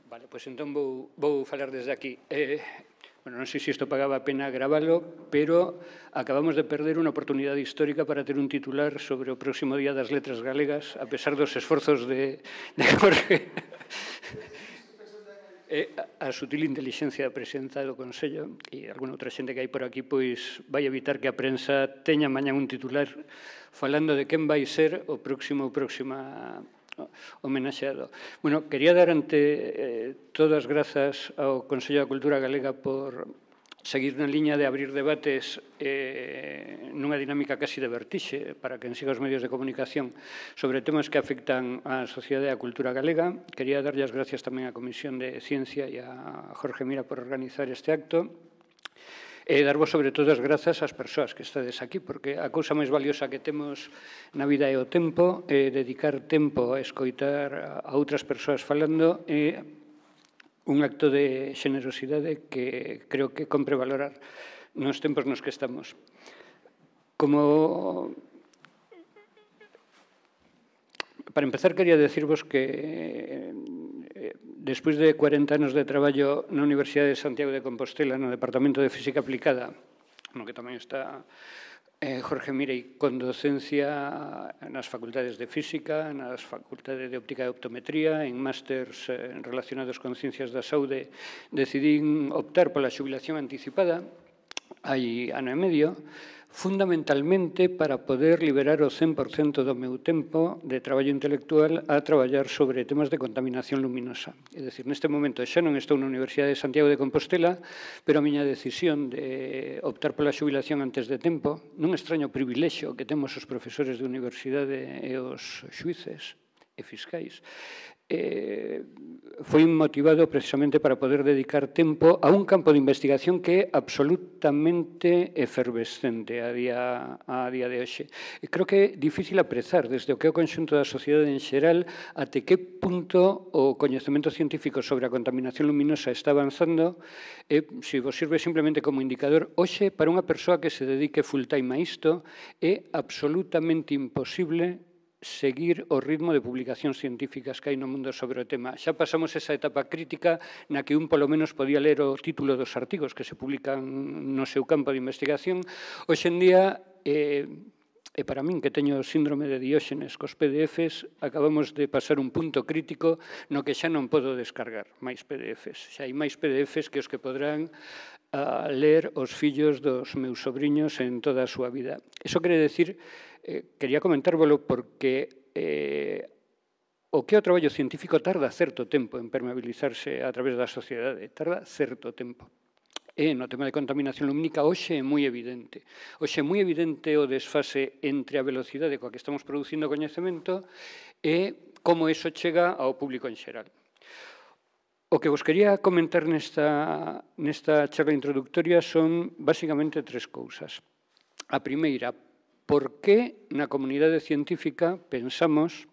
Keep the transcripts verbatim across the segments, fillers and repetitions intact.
Vale, pois entón vou, vou falar desde aquí. Eh, bueno, non sei se isto pagaba a pena gravalo, pero acabamos de perder unha oportunidade histórica para ter un titular sobre o próximo Día das Letras Galegas, a pesar dos esforzos de, de Jorge. E a sutil inteligencia da presidenta do Consello e alguna outra xente que hai por aquí, pois vai evitar que a prensa teña mañán un titular falando de quen vai ser o próximo ou próxima homenaxeado. Bueno, quería dar ante eh, todas grazas ao Consello da Cultura Galega por seguir na liña de abrir debates eh, nunha dinámica casi de vertixe para quen siga os medios de comunicación sobre temas que afectan á sociedade e á cultura galega. Quería darlle as gracias tamén á Comisión de Ciencia e a Jorge Mira por organizar este acto. E darvos sobre todo as grazas ás persoas que estades aquí, porque a cousa máis valiosa que temos na vida é o tempo, e dedicar tempo a escoitar a outras persoas falando é un acto de xenerosidade que creo que compre valorar nos tempos nos que estamos. Como... Para empezar, quería decirvos que despois de cuarenta anos de traballo na Universidade de Santiago de Compostela, no Departamento de Física Aplicada, no que tamén está eh, Jorge Mirei, con docencia nas facultades de Física, nas facultades de Óptica e Optometría, en másters eh, relacionados con ciencias da saúde, decidín optar pola xubilación anticipada hai ano e medio, fundamentalmente para poder liberar o cen por cento do meu tempo de traballo intelectual a traballar sobre temas de contaminación luminosa. É dicir, neste momento xa non estou na Universidade de Santiago de Compostela, pero a miña decisión de optar pola xubilación antes de tempo, nun extraño privilexio que temos os profesores de universidade e os xuíces e fiscais, Eh, foi motivado precisamente para poder dedicar tempo a un campo de investigación que é absolutamente efervescente a día, a día de hoxe. E creo que é difícil aprezar desde o que é o conxunto da sociedade en xeral até que punto o coñecemento científico sobre a contaminación luminosa está avanzando. E, se vos sirve simplemente como indicador, hoxe, para unha persoa que se dedique full time a isto, é absolutamente imposible seguir o ritmo de publicacións científicas que hai no mundo sobre o tema. Xa pasamos esa etapa crítica na que un polo menos podía ler o título dos artigos que se publican no seu campo de investigación. Hoxe en día, eh, e para min que teño o síndrome de Dióxenes cos P D Fs, acabamos de pasar un punto crítico no que xa non podo descargar máis P D Fs. Xa hai máis P D Fs que os que podrán a ler os fillos dos meus sobriños en toda a súa vida. Iso quere decir, eh, quería comentárvolo porque eh, o que é o traballo científico tarda certo tempo en permeabilizarse a través da sociedade, tarda certo tempo. E no tema de contaminación lumínica, hoxe é moi evidente. Hoxe é moi evidente o desfase entre a velocidade coa que estamos producindo coñecemento e como iso chega ao público en xeral. O que vos quería comentar nesta, nesta charla introductoria son basicamente tres cousas. A primeira, por que na comunidade científica pensamos,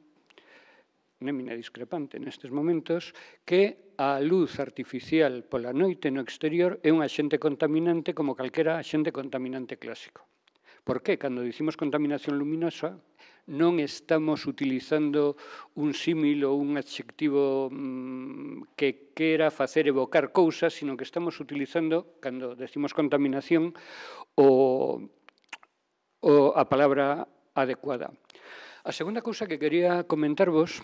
némina discrepante nestes momentos, que a luz artificial pola noite no exterior é un axente contaminante como calquera axente contaminante clásico. Por que, cando dicimos contaminación luminosa, non estamos utilizando un símil ou un adxectivo mmm, que quera facer evocar cousas, sino que estamos utilizando, cando decimos contaminación, o, o, a palabra adecuada. A segunda cousa que quería comentarvos,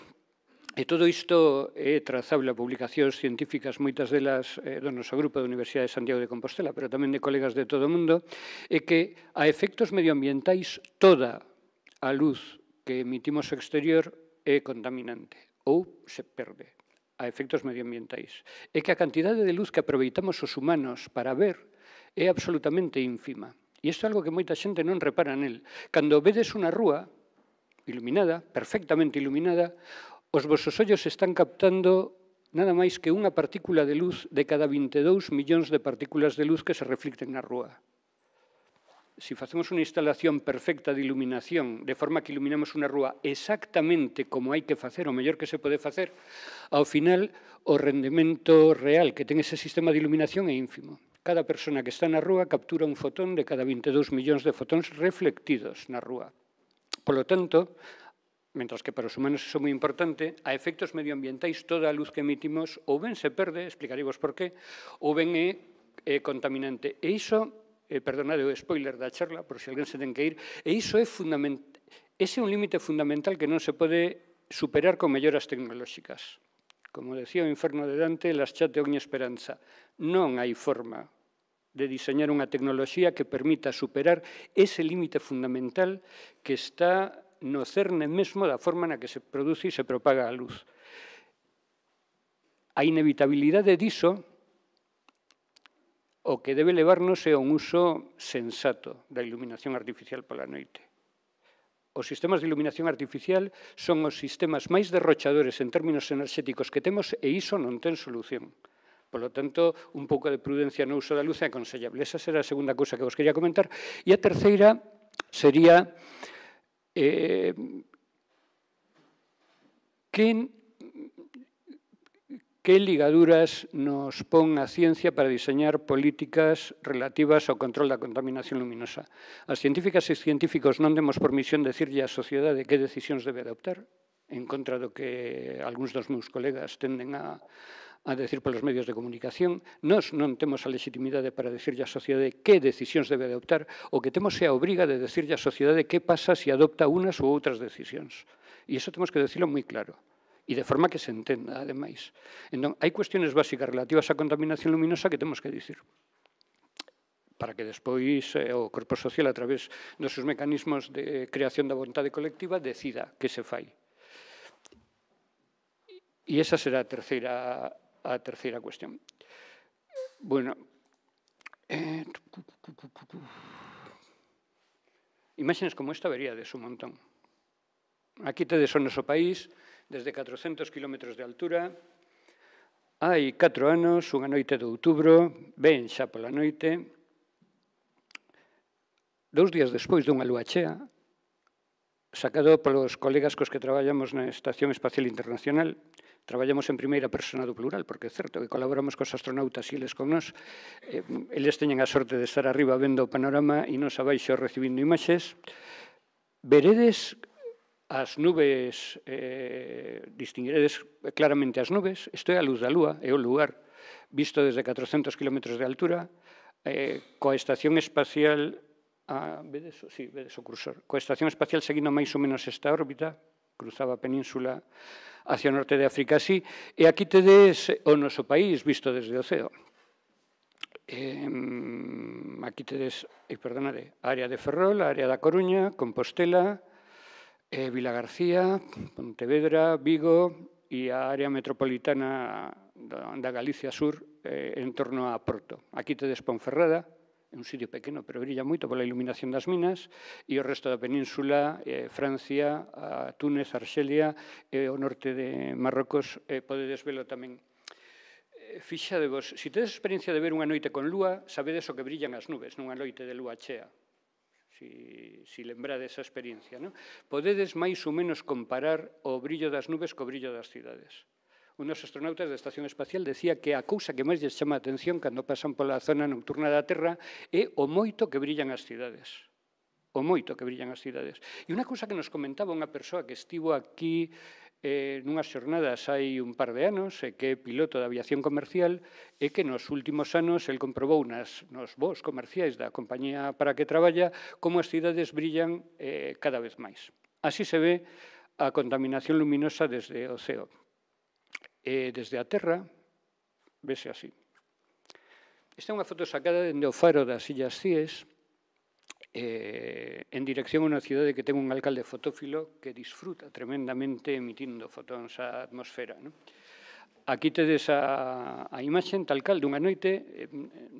e todo isto é trazable a publicacións científicas, moitas delas eh, do noso grupo da Universidade de Santiago de Compostela, pero tamén de colegas de todo o mundo, é que a efectos medioambientais toda a luz que emitimos ao exterior é contaminante ou se perde a efectos medioambientais. É que a cantidade de luz que aproveitamos os humanos para ver é absolutamente ínfima. E isto é algo que moita xente non repara nel. Cando vedes unha rúa iluminada, perfectamente iluminada, os vosos ollos están captando nada máis que unha partícula de luz de cada vinte e dous millóns de partículas de luz que se reflicten na rúa. Se facemos unha instalación perfecta de iluminación, de forma que iluminamos unha rúa exactamente como hai que facer, o mellor que se pode facer, ao final o rendemento real que ten ese sistema de iluminación é ínfimo. Cada persona que está na rúa captura un fotón de cada vinte e dous millóns de fotóns reflectidos na rúa. Polo tanto, mentras que para os humanos iso é moi importante, a efectos medioambientais toda a luz que emitimos ou ben se perde, explicareivos por qué, ou ben é, é contaminante. E iso, eh, perdonade o spoiler da charla, por se alguén se ten que ir, e iso é fundamental, ese é un límite fundamental que non se pode superar con melloras tecnolóxicas. Como decía o Inferno de Dante, lasciate ogni esperanza. Non hai forma de diseñar unha tecnoloxía que permita superar ese límite fundamental que está no cerne mesmo da forma na que se produce e se propaga a luz. A inevitabilidade diso, o que debe levarnos é un uso sensato da iluminación artificial pola noite. Os sistemas de iluminación artificial son os sistemas máis derrochadores en términos enerxéticos que temos e iso non ten solución. Por lo tanto, un pouco de prudencia no uso da luz é aconsellable. Esa será a segunda cousa que vos quería comentar. E a terceira sería eh, que, que ligaduras nos pon a ciencia para diseñar políticas relativas ao control da contaminación luminosa. As científicas e científicos non demos por misión decirlle á sociedade que decisións debe adoptar, en contra do que algúns dos meus colegas tenden a a decir polos medios de comunicación. Nós non temos a legitimidade para decirlle á sociedade que decisións debe adoptar, o que temos é a obriga de decirlle á sociedade que pasa se adopta unas ou outras decisións. E iso temos que decirlo moi claro, e de forma que se entenda, ademais. Entón, hai cuestiones básicas relativas á contaminación luminosa que temos que dicir, para que despois eh, o corpo social, a través dos seus mecanismos de creación da vontade colectiva, decida que se fai. E esa será a terceira a terceira cuestión. Bueno, eh, imaxes como esta veríades un montón. Aquí tedes o noso país, desde catrocentos kilómetros de altura, hai catro anos, unha noite de outubro, ben xa pola noite, dous días despois dunha lúa chea, sacado polos colegas cos que traballamos na Estación Espacial Internacional. Traballamos en primeira persona do plural, porque é certo que colaboramos cos astronautas e eles con nós. Eh, eles teñen a sorte de estar arriba vendo o panorama e nos abaixo recibindo imaxes. Veredes as nubes, eh, distinguiredes claramente as nubes. Isto é a luz da lúa, é o lugar visto desde catrocentos kilómetros de altura, eh, coa Estación Espacial, ah, vedes, sí, vedes o cursor, coa Estación Espacial seguindo máis ou menos esta órbita, cruzaba a península hacia o norte de África, así, e aquí tedes o noso país visto desde o ceo. Eh, aquí tedes, eh, perdonade, a área de Ferrol, a área da Coruña, Compostela, eh, Vilagarcía, Pontevedra, Vigo e a área metropolitana da, da Galicia Sur eh, en torno a Porto. Aquí tedes Ponferrada, é un sitio pequeno, pero brilla moito pola iluminación das minas, e o resto da península, eh, Francia, a Túnez, Arxelia, e o norte de Marrocos, eh, podedes velo tamén. Eh, fixadevos, se tedes experiencia de ver unha noite con lúa, sabedes o que brillan as nubes nunha noite de lúa chea. Si, si lembrade esa experiencia, non? Podedes máis ou menos comparar o brillo das nubes co brillo das cidades. Un dos astronautas da Estación Espacial decía que a cousa que máis lles chama a atención cando pasan pola zona nocturna da Terra é o moito que brillan as cidades. O moito que brillan as cidades. E unha cousa que nos comentaba unha persoa que estivo aquí eh, nunhas xornadas hai un par de anos, e que é piloto de aviación comercial, é que nos últimos anos el comprobou nas, nos voos comerciais da compañía para que traballa como as cidades brillan eh, cada vez máis. Así se ve a contaminación luminosa desde o ceo. E desde a Terra, vese así. Esta é unha foto sacada dende o faro das Illas Cíes, eh, en dirección a unha cidade que ten un alcalde fotófilo que disfruta tremendamente emitindo fotóns á atmosfera. Non? Aquí tedes a, a imaxe tal cal dunha noite, eh,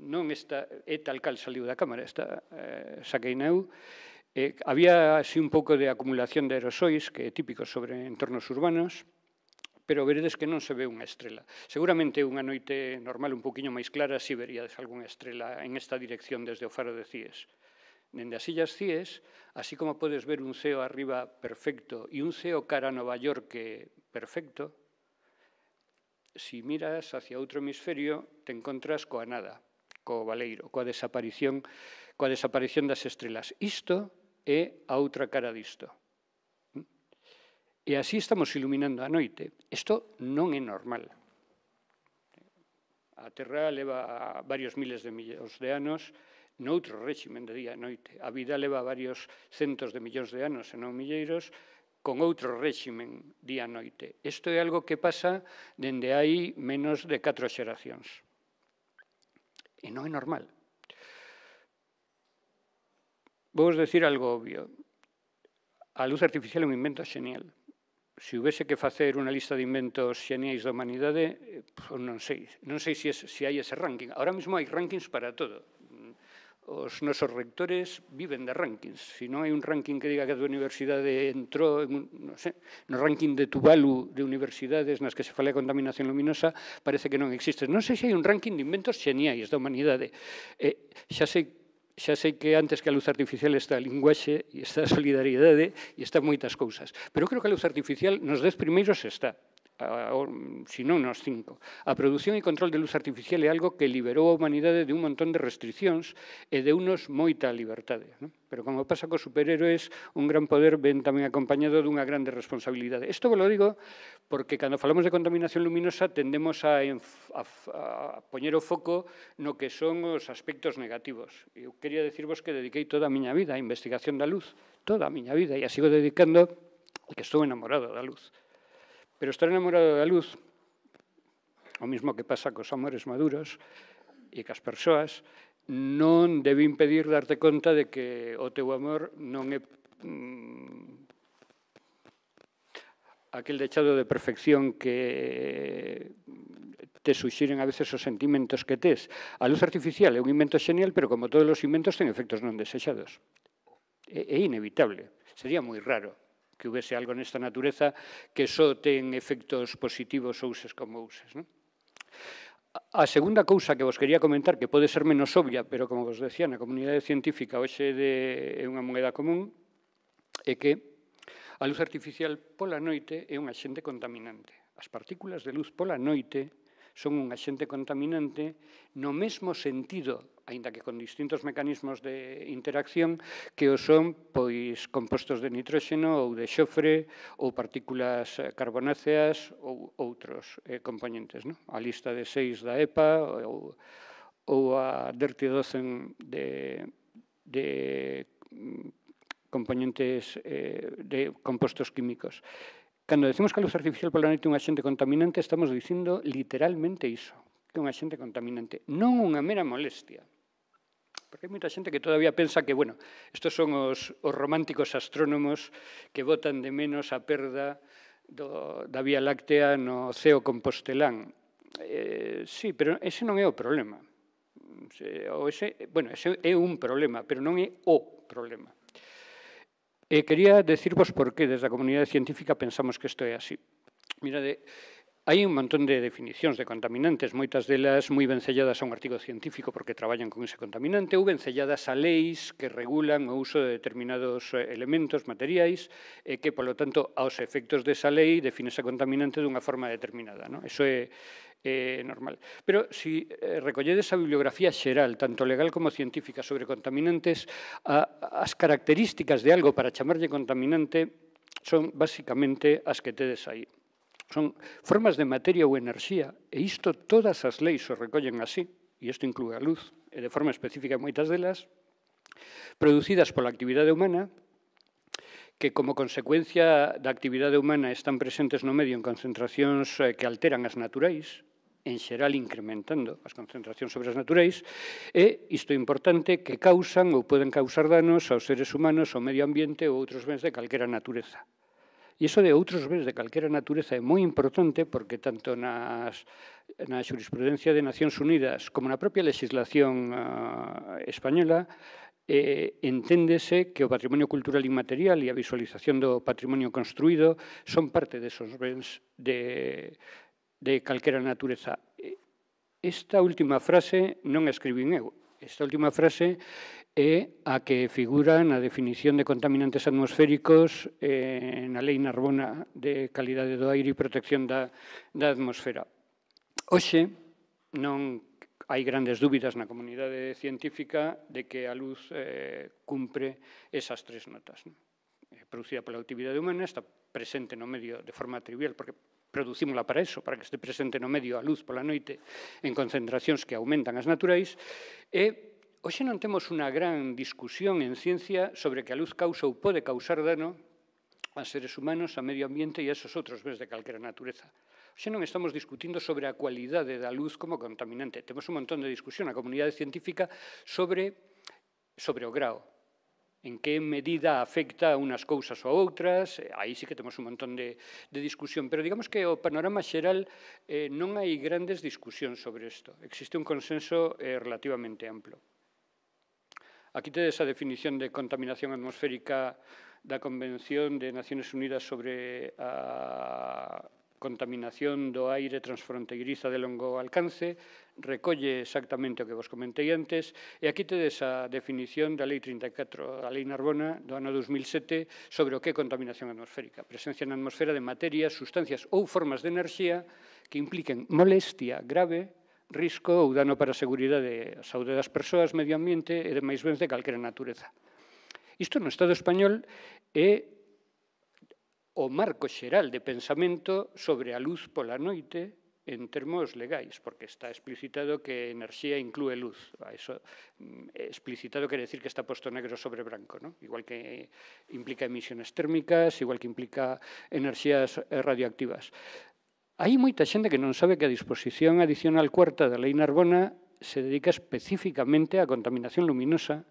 non esta, é tal cal saliu da cámara, esta eh, saquei na eu. Eh, había así un pouco de acumulación de aerosois, que é típico sobre entornos urbanos, pero veredes que non se ve unha estrela. Seguramente unha noite normal un poquinho máis clara si veríades algunha estrela en esta dirección desde o faro de Cíes. Dende as Illas Cíes, así como podes ver un ceo arriba perfecto e un ceo cara a Nova York perfecto, si miras hacia outro hemisferio, te encontras coa nada, co baleiro, coa desaparición, coa desaparición das estrelas. Isto é a outra cara disto. E así estamos iluminando a noite. Isto non é normal. A Terra leva varios miles de millóns de anos noutro réximen de día e noite. A vida leva varios centos de millóns de anos, e non milleiros, con outro réximen día e noite. Isto é algo que pasa dende hai menos de catro xeracións. E non é normal. Vou decir algo obvio. A luz artificial é un invento xenial. Se houvese que facer unha lista de inventos xeniais da humanidade, non sei, non sei se, es, se hai ese ranking. Ahora mesmo hai rankings para todo. Os nosos rectores viven de rankings. Se non hai un ranking que diga que a tua universidade entrou en un, non sei, no ranking de Tuvalu de universidades nas que se fala de contaminación luminosa, parece que non existe. Non sei se hai un ranking de inventos xeniais da humanidade. Eh, xa sei Xa sei que antes que a luz artificial está a linguaxe e está a solidariedade e está moitas cousas. Pero creo que a luz artificial nos dez primeiros está, se non nos cinco. A produción e control de luz artificial é algo que liberou a humanidade de un montón de restriccións e de unos moita liberdade. Non? Pero como pasa cos superhéroes, un gran poder ven tamén acompañado dunha grande responsabilidade. Isto vos lo digo porque cando falamos de contaminación luminosa tendemos a, a, a poñer o foco no que son os aspectos negativos. Eu quería decirvos que dediquei toda a miña vida á investigación da luz, toda a miña vida, e a sigo dedicando, e que estou enamorado da luz. Pero estar enamorado da luz, o mesmo que pasa cos amores maduros e cas persoas, non debe impedir darte conta de que o teu amor non é mm, aquel dechado de perfección que te suxiren a veces os sentimentos que tes. A luz artificial é un invento xenial, pero como todos os inventos ten efectos non desexados. É, é inevitable. Sería moi raro que houvese algo nesta natureza que só ten efectos positivos ou uses como uses. Non? A segunda cousa que vos quería comentar, que pode ser menos obvia, pero como vos decía, na comunidade científica hoxe é unha moeda común, é que a luz artificial pola noite é un axente contaminante. As partículas de luz pola noite son un axente contaminante no mesmo sentido, aínda que con distintos mecanismos de interacción, que o son pois compostos de nitróxeno ou de xofre ou partículas carbonáceas ou outros eh, componentes. Non? A lista de seis da E P A ou, ou a Dirty Dozen de, de componentes eh, de compostos químicos. Cando decimos que a luz artificial pola noite é un axente contaminante, estamos dicindo literalmente iso, que é un axente contaminante, non unha mera molestia. Porque hai moita xente que todavía pensa que, bueno, estos son os, os románticos astrónomos que botan de menos a perda do, da Vía Láctea no ceo compostelán. Eh, sí, pero ese non é o problema. O ese, bueno, ese é un problema, pero non é o problema. E quería decirvos por que desde a comunidade científica pensamos que isto é así. Mirade, hai un montón de definicións de contaminantes, moitas delas moi vencelladas a un artigo científico porque traballan con ese contaminante ou vencelladas a leis que regulan o uso de determinados elementos materiais e que, polo tanto, aos efectos desa lei define ese contaminante dunha forma determinada. Non? Eso é É normal. Pero se si recolledes a bibliografía xeral, tanto legal como científica, sobre contaminantes, a, as características de algo para chamarlle contaminante son basicamente as que tedes aí. Son formas de materia ou enerxía, e isto todas as leis o recollen así, e isto inclúe a luz, e de forma específica moitas delas, producidas pola actividade humana, que como consecuencia da actividade humana están presentes no medio en concentracións que alteran as naturais, en xeral incrementando as concentracións sobre as naturais, e isto é importante que causan ou poden causar danos aos seres humanos, ao medio ambiente ou outros bens de calquera natureza. E iso de outros bens de calquera natureza é moi importante porque tanto nas, na xurisprudencia de Nacións Unidas como na propia legislación uh, española eh, enténdese que o patrimonio cultural inmaterial e a visualización do patrimonio construído son parte desos bens de de calquera natureza. Esta última frase non a escribín eu. Esta última frase é a que figura na definición de contaminantes atmosféricos eh, na Lei Narbona de calidade do aire e protección da, da atmosfera. Hoxe non hai grandes dúbidas na comunidade científica de que a luz eh, cumpre esas tres notas. Non? Producida pola actividade humana, está presente no medio de forma trivial, porque producímola para eso, para que este presente no medio a luz pola noite en concentracións que aumentan as naturais, e hoxe non temos unha gran discusión en ciencia sobre que a luz causa ou pode causar dano a seres humanos, a medio ambiente e a esos outros bens de calquera natureza. Hoxe non estamos discutindo sobre a cualidade da luz como contaminante. Temos un montón de discusión na comunidade científica sobre, sobre o grao. En que medida afecta a unas cousas ou a outras. Aí sí que temos un montón de, de discusión. Pero digamos que o panorama xeral eh, non hai grandes discusións sobre isto. Existe un consenso eh, relativamente amplo. Aquí tedes a definición de contaminación atmosférica da Convención de Naciones Unidas sobre a contaminación do aire transfronteiriza de longo alcance, recolle exactamente o que vos comentei antes, e aquí tedes a definición da Lei trinta e catro, a Lei Narbona, do ano dos mil sete, sobre o que é contaminación atmosférica. Presencia na atmosfera de materias, sustancias ou formas de enerxía que impliquen molestia grave, risco ou dano para a seguridade e a saúde das persoas, medio ambiente e demais bens de calquera natureza. Isto no Estado español é o marco xeral de pensamento sobre a luz pola noite en termos legais, porque está explicitado que enerxía inclúe luz. Eso, explicitado quere decir que está posto negro sobre branco, ¿no? Igual que implica emisiones térmicas, igual que implica enerxías radioactivas. Hai moita xente que non sabe que a disposición adicional cuarta da Lei Narbona se dedica especificamente á contaminación luminosa,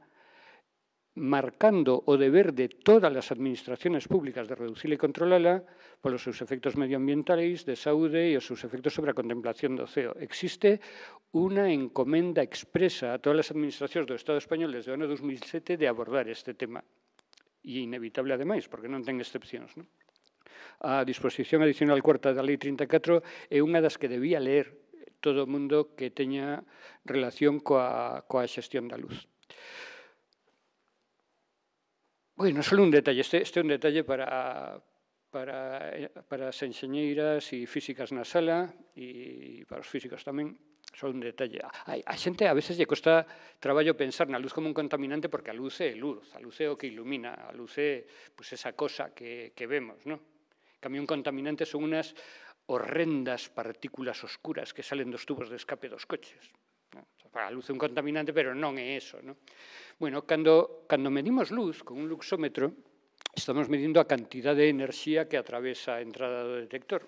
marcando o deber de todas as administraciones públicas de reducila e controlala polos seus efectos medioambientais, de saúde e os seus efectos sobre a contemplación do ceo. Existe unha encomenda expresa a todas as administracións do Estado español desde o ano dos mil sete de abordar este tema. E inevitable, ademais, porque non ten excepcións, non? A disposición adicional cuarta da Lei trinta e catro é unha das que debía ler todo o mundo que teña relación coa, coa xestión da luz. Bueno, só un detalle, este, este é un detalle para, para, para as enxeñeiras e físicas na sala e para os físicos tamén, só un detalle. A, a xente a veces lle costa traballo pensar na luz como un contaminante porque a luz é luz, a luz é o que ilumina, a luz é pues, esa cosa que, que vemos, ¿no? En cambio, un contaminante son unas horrendas partículas oscuras que salen dos tubos de escape dos coches. ¿No? A luz é un contaminante, pero non é eso, ¿no? Bueno, cando, cando medimos luz con un luxómetro, estamos medindo a cantidad de enerxía que atravesa a entrada do detector.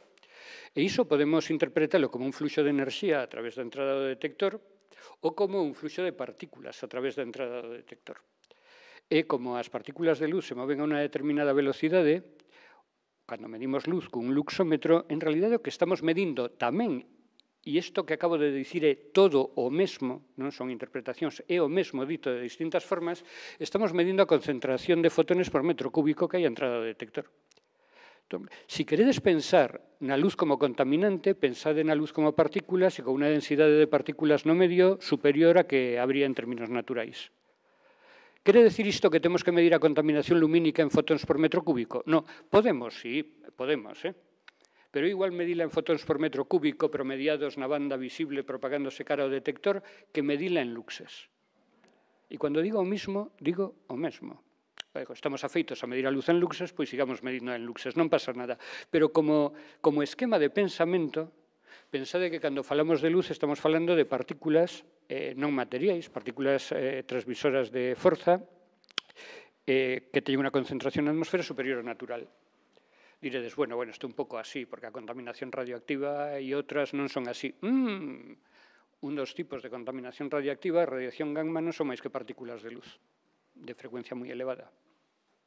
E iso podemos interpretarlo como un fluxo de enerxía a través da entrada do detector ou como un fluxo de partículas a través da entrada do detector. E como as partículas de luz se moven a unha determinada velocidade, cando medimos luz con un luxómetro, en realidade o que estamos medindo tamén, e isto que acabo de dicir é todo o mesmo, non son interpretacións, é o mesmo dito de distintas formas, estamos medindo a concentración de fotones por metro cúbico que hai a entrada do detector. Entón, si queredes pensar na luz como contaminante, pensade na luz como partículas e con unha densidade de partículas no medio superior a que habría en términos naturais. Quere decir isto que temos que medir a contaminación lumínica en fotóns por metro cúbico? No, podemos, sí, podemos, eh? Pero igual medila en fotóns por metro cúbico promediados na banda visible propagándose cara ao detector que medila en luxes. E cando digo o mismo, digo o mesmo. Estamos afeitos a medir a luz en luxes, pois sigamos medindo en luxes, non pasa nada. Pero como, como esquema de pensamento, pensade que cando falamos de luz estamos falando de partículas eh, non materiais, partículas eh, transmisoras de forza eh, que teñen unha concentración na atmosfera superior ao natural. Diredes, bueno, bueno, isto é un pouco así, porque a contaminación radioactiva e outras non son así. Mm, un dos tipos de contaminación radioactiva, a radiación gamma, non son máis que partículas de luz, de frecuencia moi elevada.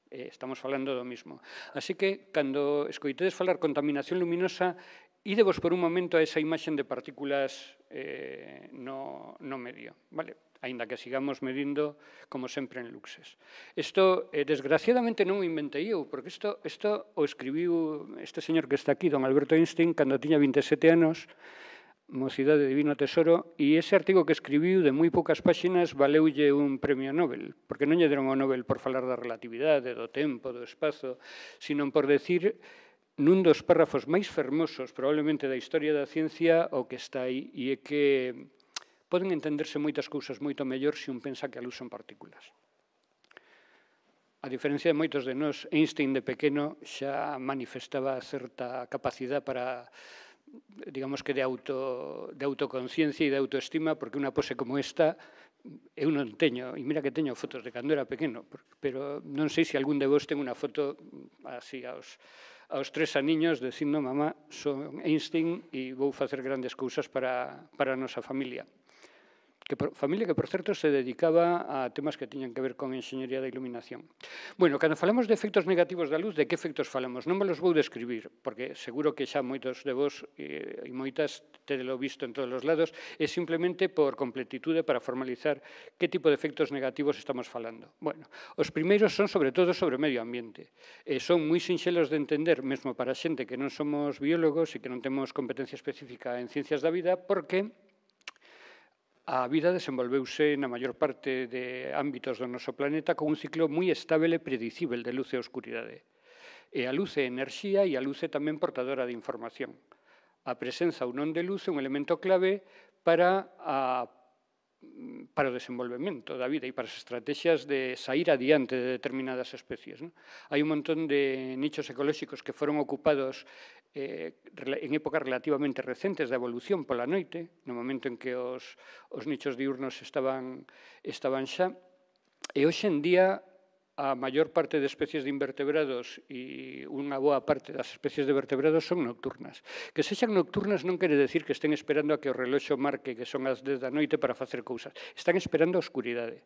Eh, estamos falando do mismo. Así que, cando escoitedes falar contaminación luminosa, ídevos por un momento a esa imaxen de partículas eh, no, no medio, vale? Aínda que sigamos medindo, como sempre, en luxes. Isto, eh, desgraciadamente, non o inventei eu, porque isto, isto o escribiu este señor que está aquí, don Alberto Einstein, cando tiña vinte e sete anos, Mocidade de Divino Tesoro, e ese artigo que escribiu de moi poucas páxinas valeulle un premio Nobel, porque non lle deron o Nobel por falar da relatividade, do tempo, do espazo, sino por decir nun dos párrafos máis fermosos, probablemente, da historia da ciencia, o que está aí, e é que poden entenderse moitas cousas moito mellor se un pensa que a luz son partículas. A diferencia de moitos de nós, Einstein de pequeno xa manifestaba certa capacidade para, digamos que de, auto, de autoconciencia e de autoestima, porque unha pose como esta eu non teño, e mira que teño fotos de cando era pequeno, pero non sei se algún de vos ten unha foto así aos, aos tres aniños dicindo, mamá, son Einstein e vou facer grandes cousas para, para a nosa familia. Que por, familia que, por certo, se dedicaba a temas que tiñan que ver con enxeñería da iluminación. Bueno, cando falamos de efectos negativos da luz, de que efectos falamos? Non me los vou describir, porque seguro que xa moitos de vos e, e moitas tedelo visto en todos os lados, é simplemente por completitude para formalizar que tipo de efectos negativos estamos falando. Bueno, os primeiros son sobre todo sobre o medio ambiente. E son moi sinxelos de entender, mesmo para xente que non somos biólogos e que non temos competencia específica en ciencias da vida, porque a vida desenvolveuse na maior parte de ámbitos do noso planeta con un ciclo moi estable e predicível de luz e oscuridade. E a luz é enerxía e a luz é tamén portadora de información. A presenza ou non de luz é un elemento clave para, a, para o desenvolvemento da vida e para as estrategias de sair adiante de determinadas especies. Non? Hai un montón de nichos ecolóxicos que foron ocupados eh, en épocas relativamente recentes da evolución pola noite, no momento en que os, os nichos diurnos estaban, estaban xa, e hoxe en día a maior parte de especies de invertebrados e unha boa parte das especies de vertebrados son nocturnas. Que sexan nocturnas non quere decir que estén esperando a que o reloxo marque que son as dez da noite para facer cousas. Están esperando a oscuridade.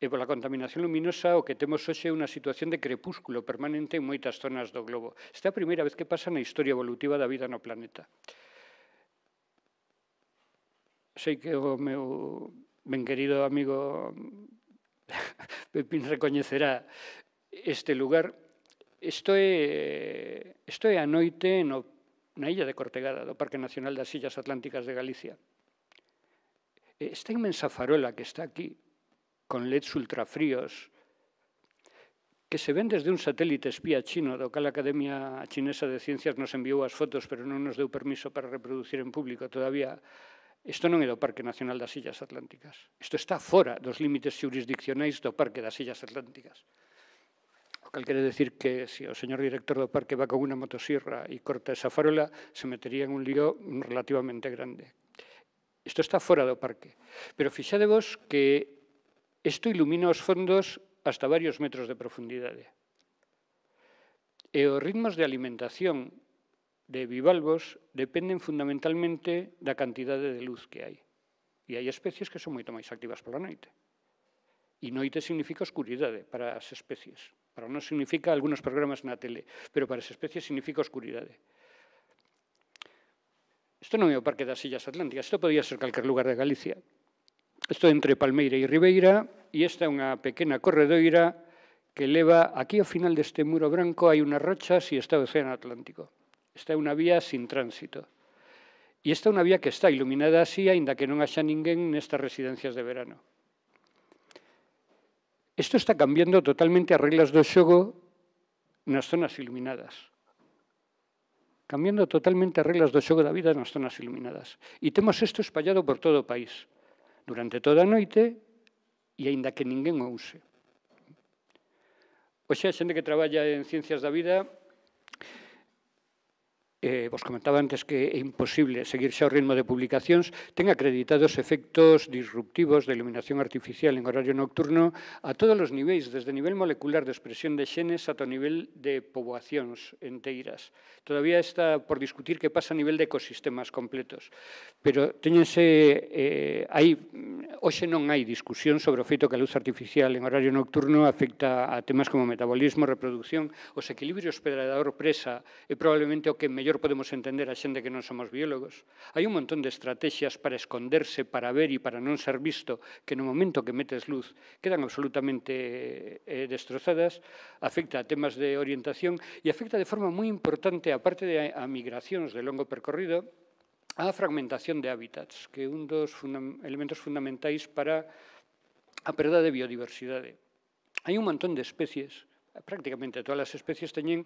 E pola contaminación luminosa o que temos hoxe é unha situación de crepúsculo permanente en moitas zonas do globo. Esta é a primeira vez que pasa na historia evolutiva da vida no planeta. Sei que o meu ben querido amigo Pepín recoñecerá este lugar. Isto é, isto é a noite no, na illa de Cortegada, do Parque Nacional das Illas Atlánticas de Galicia. Esta inmensa farola que está aquí, con leds ultrafríos, que se ven desde un satélite espía chino, do cal a Academia Chinesa de Ciencias nos enviou as fotos, pero non nos deu permiso para reproducir en público todavía. Isto non é do Parque Nacional das Illas Atlánticas. Isto está fora dos límites xurisdiccionais do Parque das Illas Atlánticas. O cal quere decir que se o señor director do parque va con unha motosierra e corta esa farola, se metería en un lío relativamente grande. Isto está fora do parque. Pero fixadevos que isto ilumina os fondos hasta varios metros de profundidade. E os ritmos de alimentación de bivalvos dependen fundamentalmente da cantidade de luz que hai. E hai especies que son moito máis activas pola noite. E noite significa oscuridade para as especies. Para nós significa algunos programas na tele, pero para as especies significa oscuridade. Isto non é o Parque das Illas Atlánticas, isto podía ser calquer lugar de Galicia. Isto é entre Palmeira e Ribeira, e esta é unha pequena corredoira que leva, aquí ao final deste muro branco hai unhas rochas e está o Océano Atlántico. Esta é unha vía sin tránsito. E esta é unha vía que está iluminada así, aínda que non haxa ninguén nestas residencias de verano. Isto está cambiando totalmente as reglas do xogo nas zonas iluminadas. Cambiando totalmente as reglas do xogo da vida nas zonas iluminadas. E temos isto espallado por todo o país, durante toda a noite, e aínda que ninguén o use. Oxe, a xente que traballa en ciencias da vida, eh, vos comentaba antes que é imposible seguir xa o ritmo de publicacións, ten acreditados efectos disruptivos de iluminación artificial en horario nocturno a todos os niveis, desde o nivel molecular de expresión de xenes ata o nivel de poboacións enteiras. Todavía está por discutir que pasa a nivel de ecosistemas completos, pero teñense, eh, hai, hoxe non hai discusión sobre o feito que a luz artificial en horario nocturno afecta a temas como metabolismo, reproducción, os equilibrios predador-presa é probablemente o que mellor podemos entender a xente que non somos biólogos. Hai un montón de estrategias para esconderse, para ver e para non ser visto, que no momento que metes luz quedan absolutamente eh, destrozadas, afecta a temas de orientación e afecta de forma moi importante, aparte de a migracións de longo percorrido, a fragmentación de hábitats, que é un dos funda elementos fundamentais para a perda de biodiversidade. Hai un montón de especies, prácticamente todas as especies teñen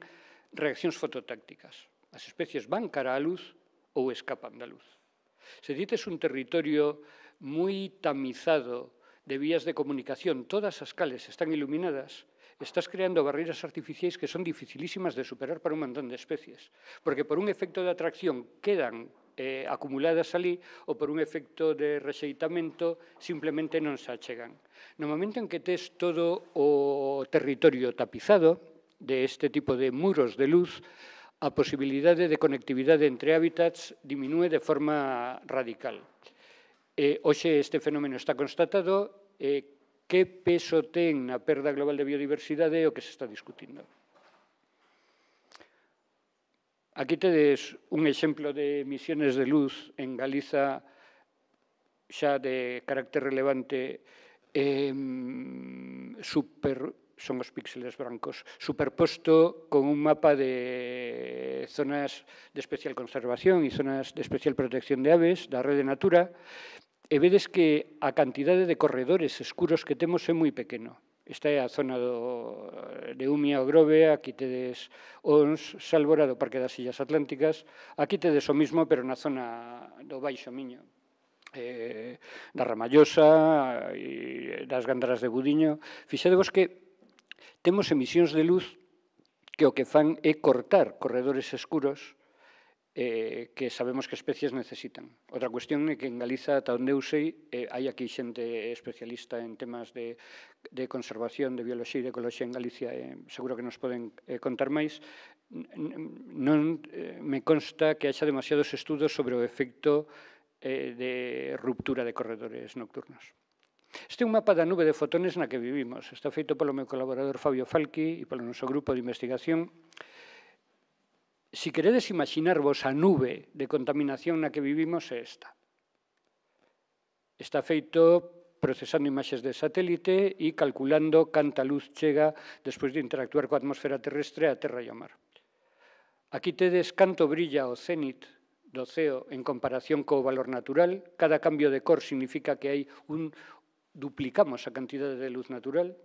reaccións fototácticas. As especies van cara á luz ou escapan da luz. Se dites un territorio moi tamizado de vías de comunicación, todas as cales están iluminadas, estás creando barreiras artificiais que son dificilísimas de superar para un montón de especies, porque por un efecto de atracción quedan eh, acumuladas ali ou por un efecto de rexeitamento simplemente non se achegan. No momento en que tes todo o territorio tapizado de este tipo de muros de luz, a posibilidade de conectividade entre hábitats diminúe de forma radical. Eh, hoxe este fenómeno está constatado. Eh, que peso ten na perda global de biodiversidade o que se está discutindo? Aquí tedes un exemplo de emisiones de luz en Galiza xa de carácter relevante, eh, super, son os píxeles brancos, superposto con un mapa de zonas de especial conservación e zonas de especial protección de aves da Rede Natura, e vedes que a cantidade de corredores escuros que temos é moi pequeno. Esta é a zona do, de Umia o Grove, aquí tedes Ons, Sálvora, do Parque das Illas Atlánticas, aquí tedes o mismo, pero na zona do Baixo Miño, eh, da Ramallosa e das Gandaras de Budiño. Fixadevos que temos emisións de luz que o que fan é cortar corredores escuros eh, que sabemos que especies necesitan. Outra cuestión é que en Galiza, ata onde eu sei, eh, hai aquí xente especialista en temas de, de conservación, de bioloxía e de ecoloxía en Galicia, eh, seguro que nos poden eh, contar máis. Non eh, me consta que haxa demasiados estudos sobre o efecto eh, de ruptura de corredores nocturnos. Este é un mapa da nube de fotones na que vivimos. Está feito polo meu colaborador Fabio Falqui e polo noso grupo de investigación. Si queredes imaginarvos a nube de contaminación na que vivimos é esta. Está feito procesando imaxes de satélite e calculando canta luz chega despois de interactuar coa atmosfera terrestre a terra e ao mar. Aquí tedes canto brilla o cénit do ceo en comparación co valor natural. Cada cambio de cor significa que hai un duplicamos a cantidade de luz natural.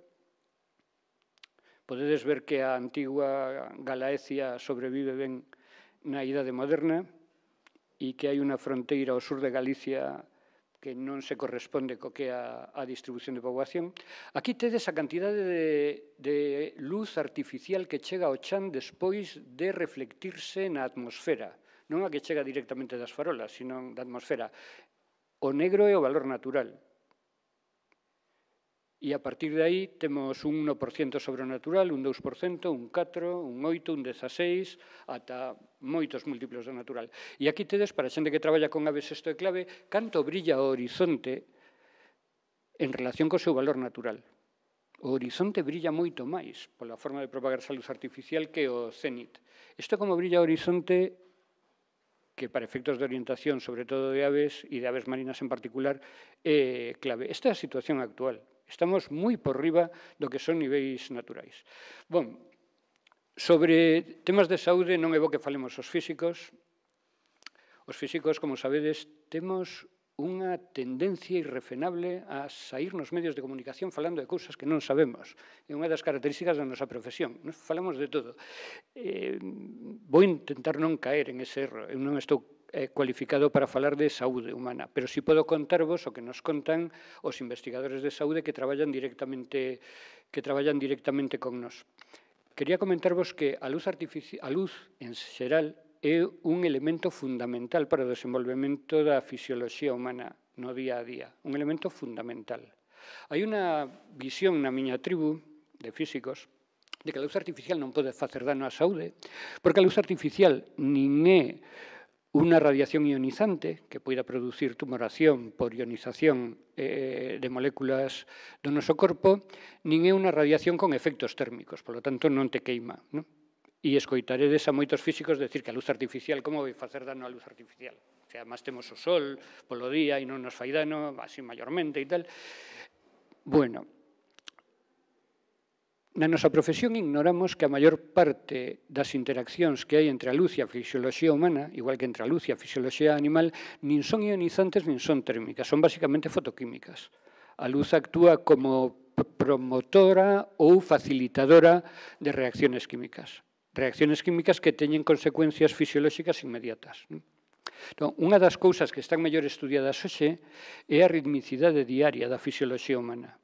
Podedes ver que a antigua Galaecia sobrevive ben na idade moderna e que hai unha fronteira ao sur de Galicia que non se corresponde co que é a, a distribución de poboación. Aquí tedes a cantidade de, de luz artificial que chega ao chan despois de reflectirse na atmosfera. Non a que chega directamente das farolas, sino da atmosfera. O negro é o valor natural. E a partir de aí temos un uno por cento sobre o natural, un dous por cento, un catro por cento, un oito por cento, un dezaseis por cento, ata moitos múltiplos do natural. E aquí tedes, para a xente que traballa con aves, isto é clave, canto brilla o horizonte en relación co seu valor natural. O horizonte brilla moito máis pola forma de propagarse a luz artificial que o cénit. Isto como brilla o horizonte, que para efectos de orientación, sobre todo de aves e de aves marinas en particular, é clave. Esta é a situación actual. Estamos moi por riba do que son niveis naturais. Bom, sobre temas de saúde non é bo que falemos os físicos. Os físicos, como sabedes, temos unha tendencia irrefrenable a sair nos medios de comunicación falando de cousas que non sabemos. É unha das características da nosa profesión. Nos falamos de todo. Eh, vou intentar non caer en ese erro. Eu non estou cualificado para falar de saúde humana, pero si podo contarvos o que nos contan os investigadores de saúde que traballan directamente que traballan directamente con nós. Quería comentarvos que a luz artificial, a luz en xeral é un elemento fundamental para o desenvolvemento da fisioloxía humana no día a día, un elemento fundamental. Hai unha visión na miña tribu de físicos de que a luz artificial non pode facer dano á saúde, porque a luz artificial nin é unha radiación ionizante que poida producir tumoración por ionización eh, de moléculas do noso corpo, nin é unha radiación con efectos térmicos, polo tanto non te queima. Non? E escoitaredes a moitos físicos decir que a luz artificial, como vai facer dano a luz artificial? O sea, además temos o sol polo día e non nos fai dano, así maiormente e tal. Bueno, na nosa profesión ignoramos que a maior parte das interaccións que hai entre a luz e a fisioloxía humana, igual que entre a luz e a fisioloxía animal, nin son ionizantes nin son térmicas, son basicamente fotoquímicas. A luz actúa como promotora ou facilitadora de reacciones químicas. Reacciones químicas que teñen consecuencias fisiolóxicas inmediatas. Entón, unha das cousas que están mellor estudiadas hoxe é a ritmicidade diaria da fisioloxía humana.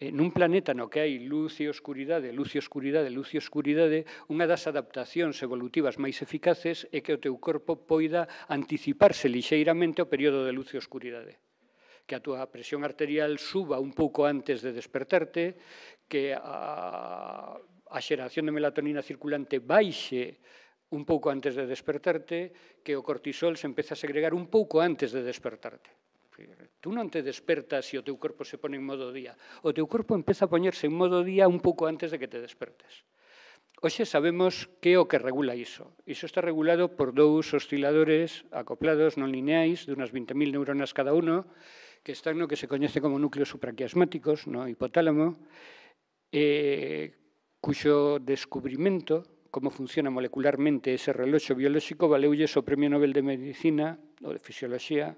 nun planeta no que hai luz e oscuridade, luz e oscuridade, luz e oscuridade, unha das adaptacións evolutivas máis eficaces é que o teu corpo poida anticiparse lixeiramente ao período de luz e oscuridade. Que a túa presión arterial suba un pouco antes de despertarte, que a, a xeración de melatonina circulante baixe un pouco antes de despertarte, que o cortisol se empeza a segregar un pouco antes de despertarte. Tú non te despertas e o teu corpo se pone en modo día. O teu corpo empeza a poñerse en modo día un pouco antes de que te despertes. Hoxe sabemos que é o que regula iso. Iso está regulado por dous osciladores acoplados non lineais de unhas vinte mil neuronas cada uno, que están no que se coñece como núcleos supraquiasmáticos, no hipotálamo, eh, cuxo descubrimento, como funciona molecularmente ese reloxo biolóxico, valeulles o Premio Nobel de Medicina ou de Fisioloxía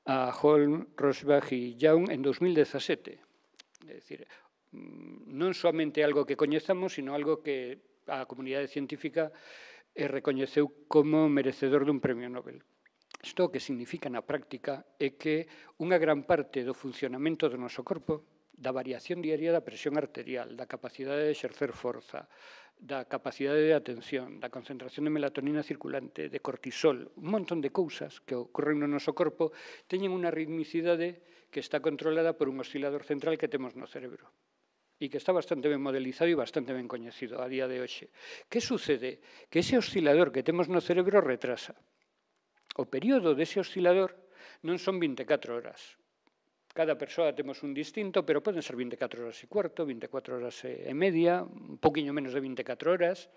a Holm, Rosbach e Young en dos mil dezasete. É dicir, non somente algo que coñezamos, sino algo que a comunidade científica recoñeceu como merecedor dun premio Nobel. Isto que significa na práctica é que unha gran parte do funcionamento do noso corpo, da variación diaria da presión arterial, da capacidade de exercer forza, da capacidade de atención, da concentración de melatonina circulante, de cortisol, un montón de cousas que ocorren no noso corpo, teñen unha ritmicidade que está controlada por un oscilador central que temos no cerebro e que está bastante ben modelizado e bastante ben coñecido a día de hoxe. Que sucede? Que ese oscilador que temos no cerebro retrasa. O período dese oscilador non son vinte e catro horas. Cada persoa temos un distinto, pero poden ser vinte e catro horas e cuarto, vinte e catro horas e media, un poquinho menos de vinte e catro horas.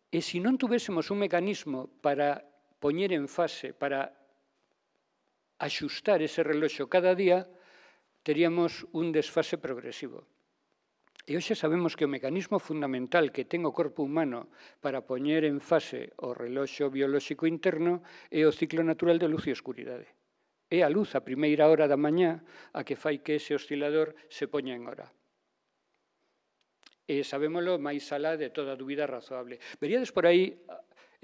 E se non tuvésemos un mecanismo para poñer en fase, para axustar ese reloxo cada día, teríamos un desfase progresivo. E hoxe sabemos que o mecanismo fundamental que ten o corpo humano para poñer en fase o reloxo biolóxico interno é o ciclo natural de luz e oscuridade. É a luz a primeira hora da mañá a que fai que ese oscilador se poña en hora. E sabémolo máis alá de toda dúbida razoable. Veríades por aí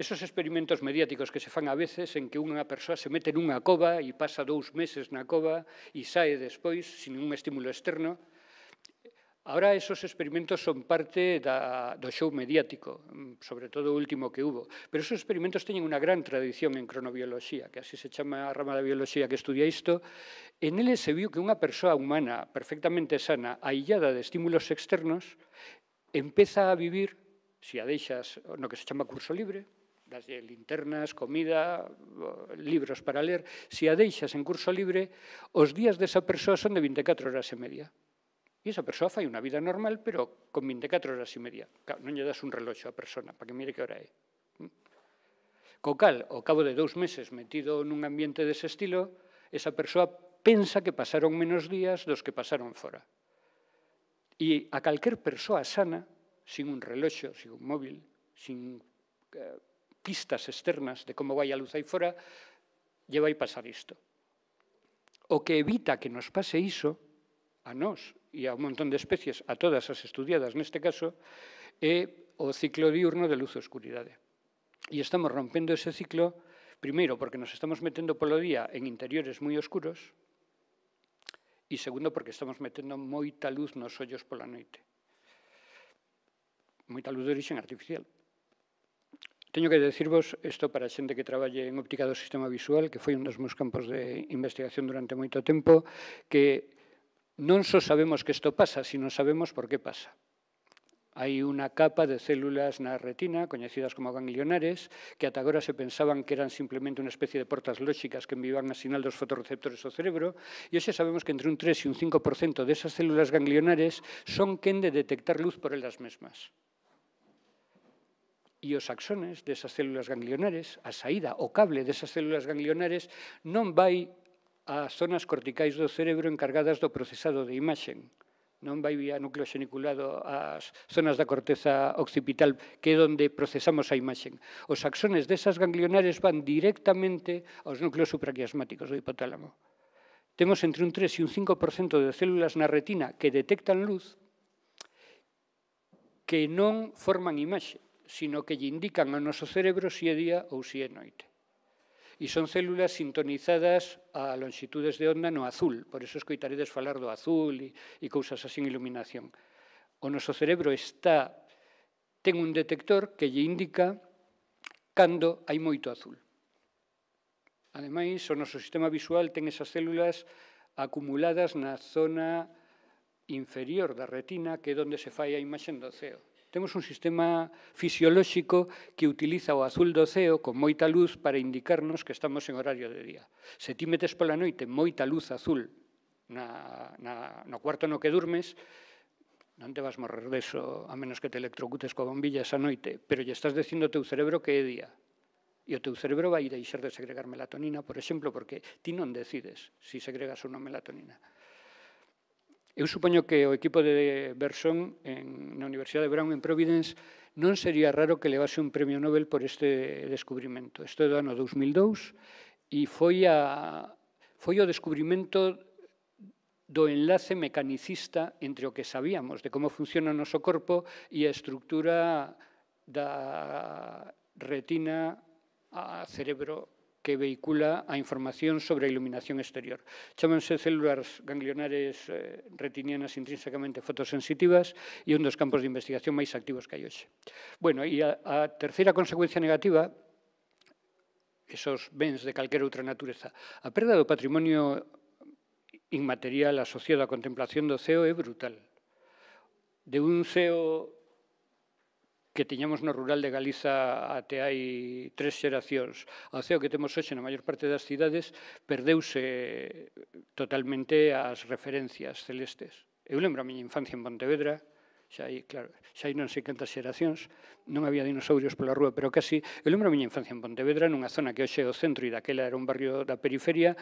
esos experimentos mediáticos que se fan a veces en que unha persoa se mete nunha cova e pasa dous meses na cova e sae despois sin ningún estímulo externo. Ahora esos experimentos son parte da, do show mediático, sobre todo o último que hubo. Pero esos experimentos teñen unha gran tradición en cronobioloxía, que así se chama a rama da bioloxía que estudia isto. En eles se viu que unha persoa humana perfectamente sana, aillada de estímulos externos, empeza a vivir, se a deixas no que se chama curso libre, das linternas, comida, libros para ler, se a deixas en curso libre, os días desa persoa son de vinte e catro horas e media. E esa persoa fai unha vida normal, pero con vinte e catro horas e media. Non lle das un reloxo á persona para que mire que hora é. Co cal, ao cabo de dous meses metido nun ambiente dese estilo, esa persoa pensa que pasaron menos días dos que pasaron fora. E a calquer persoa sana, sin un reloxo, sin un móvil, sin eh, pistas externas de como vai a luz aí fora, lle vai pasar isto. O que evita que nos pase iso, a nós e a un montón de especies, a todas as estudiadas neste caso, é o ciclo diurno de luz e oscuridade. E estamos rompendo ese ciclo, primeiro, porque nos estamos metendo polo día en interiores moi oscuros, e segundo, porque estamos metendo moita luz nos ollos pola noite. Moita luz de origen artificial. Teño que decirvos, isto para a xente que traballe en óptica do sistema visual, que foi un dos meus campos de investigación durante moito tempo, que non só sabemos que isto pasa, sino sabemos por que pasa. Hai unha capa de células na retina, coñecidas como ganglionares, que ata agora se pensaban que eran simplemente unha especie de portas lóxicas que enviaban a sinal dos fotorreceptores ao cerebro, e hoxe sabemos que entre un tres e un cinco por cento desas células ganglionares son quen de detectar luz por elas mesmas. E os axones desas células ganglionares, a saída, o cable desas células ganglionares, non vai ás zonas corticais do cerebro encargadas do procesado de imaxen. Non vai vía núcleo xeniculado ás zonas da corteza occipital, que é onde procesamos a imaxen. Os axones desas ganglionares van directamente aos núcleos supraquiasmáticos do hipotálamo. Temos entre un tres e un cinco por cento de células na retina que detectan luz que non forman imaxe, sino que lle indican ao noso cerebro se é día ou se é noite. E son células sintonizadas a longitudes de onda no azul, por eso escoitaredes falar do azul e, e cousas así en iluminación. O noso cerebro está, ten un detector que lle indica cando hai moito azul. Ademais, o noso sistema visual ten esas células acumuladas na zona inferior da retina, que é onde se fai a imaxe do ceo. Temos un sistema fisiolóxico que utiliza o azul do ceo con moita luz para indicarnos que estamos en horario de día. Se ti metes pola noite moita luz azul na, na, no cuarto no que durmes, non te vas morrer deso, a menos que te electrocutes coa bombilla esa noite, pero lle estás dicindo ao teu cerebro que é día. E o teu cerebro vai deixar de segregar melatonina, por exemplo, porque ti non decides se segregas ou non melatonina. Eu supoño que o equipo de Berson en, na Universidade de Brown en Providence non sería raro que levase un premio Nobel por este descubrimento. Isto é do ano dos mil dous e foi, a, foi o descubrimento do enlace mecanicista entre o que sabíamos de como funciona o noso corpo e a estructura da retina a cerebro que vehicula a información sobre a iluminación exterior. Chámanse células ganglionares eh, retinianas intrínsecamente fotosensitivas e un dos campos de investigación máis activos que hai hoxe. Bueno, e a, a terceira consecuencia negativa, esos bens de calquera outra natureza, a perda do patrimonio inmaterial asociado á contemplación do ceo é brutal. De un ceo que tiñamos no rural de Galiza até hai tres xeracións, ao ceo que temos hoxe na maior parte das cidades, perdeuse totalmente as referencias celestes. Eu lembro a miña infancia en Pontevedra, xa hai, claro, xa hai non sei cantas xeracións, non había dinosaurios pola rúa, pero casi, eu lembro a miña infancia en Pontevedra, nunha zona que hoxe é o centro e daquela era un barrio da periferia,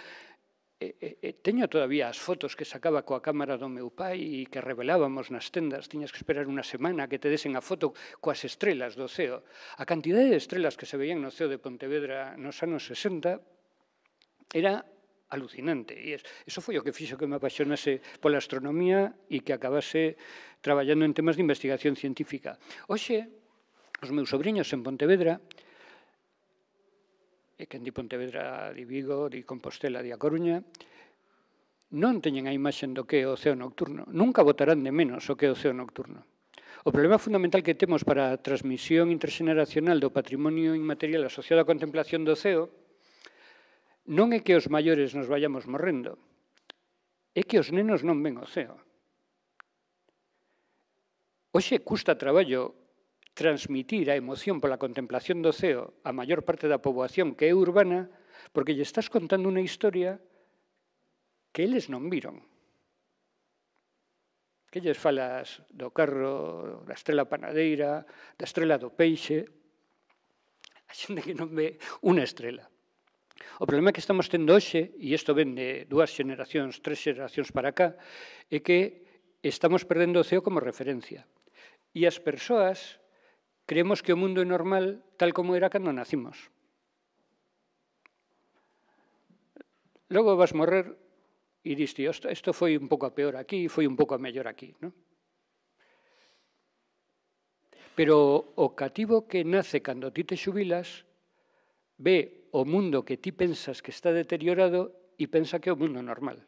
E, e, teño todavía as fotos que sacaba coa cámara do meu pai e que revelábamos nas tendas. Tiñas que esperar unha semana que te desen a foto coas estrelas do ceo. A cantidade de estrelas que se veían no ceo de Pontevedra nos anos sesenta era alucinante. E iso foi o que fixo que me apaixonase pola astronomía e que acabase traballando en temas de investigación científica. Hoxe, os meus sobrinhos en Pontevedra, e que di Pontevedra, di Vigo, di Compostela, di A Coruña, non teñen a imaxe do que é o ceo nocturno. Nunca botarán de menos o que é o ceo nocturno. O problema fundamental que temos para a transmisión interxeneracional do patrimonio inmaterial asociado á contemplación do ceo non é que os maiores nos vayamos morrendo, é que os nenos non ven o ceo. Hoxe custa traballo transmitir a emoción pola contemplación do ceo a maior parte da poboación que é urbana, porque lle estás contando unha historia que eles non viron. Que lles falas do carro, da estrela panadeira, da estrela do peixe, a xente que non ve unha estrela. O problema que estamos tendo hoxe, e isto ven de dúas xeracións, tres xeracións para cá, é que estamos perdendo o ceo como referencia. E as persoas creemos que o mundo é normal tal como era cando nacimos. Logo vas morrer e diste, isto foi un pouco a peor aquí, foi un pouco a mellor aquí, non? Pero o cativo que nace cando ti te xubilas ve o mundo que ti pensas que está deteriorado e pensa que é o mundo normal.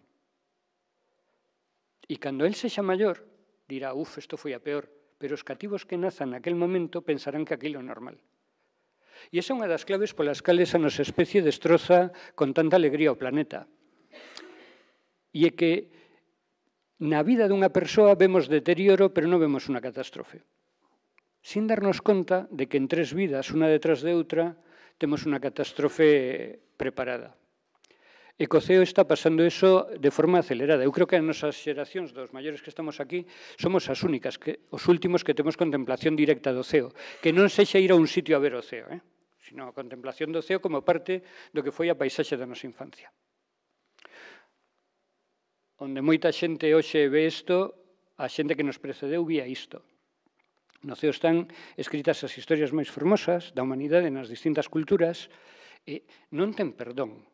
E cando el sexa maior, dirá, uf, isto foi a peor, pero os cativos que nazan naquele momento pensarán que aquilo é normal. E esa é unha das claves polas cales a nosa especie destroza con tanta alegría o planeta. E é que na vida dunha persoa vemos deterioro, pero non vemos unha catástrofe. Sin darnos conta de que en tres vidas, unha detrás de outra, temos unha catástrofe preparada. E co ceo está pasando eso de forma acelerada. Eu creo que as nosas xeracións dos maiores que estamos aquí somos as únicas, que, os últimos que temos contemplación directa do ceo, que non sexa ir a un sitio a ver o ceo, eh? Sino a contemplación do ceo como parte do que foi a paisaxe da nosa infancia. Onde moita xente hoxe ve isto, a xente que nos precedeu vía isto. No ceo están escritas as historias máis fermosas da humanidade nas distintas culturas e non ten perdón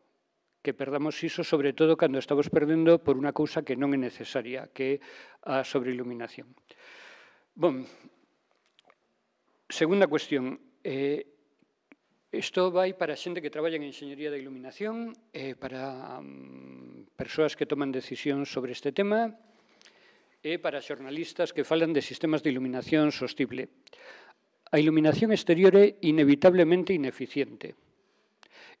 que perdamos iso, sobre todo cando estamos perdendo por unha cousa que non é necesaria, que é a sobreiluminación. Bom, segunda cuestión. Eh, Isto vai para a xente que traballa en enxeñería da iluminación, e para um, persoas que toman decisións sobre este tema, e para xornalistas que falan de sistemas de iluminación sostible. A iluminación exterior é inevitablemente ineficiente.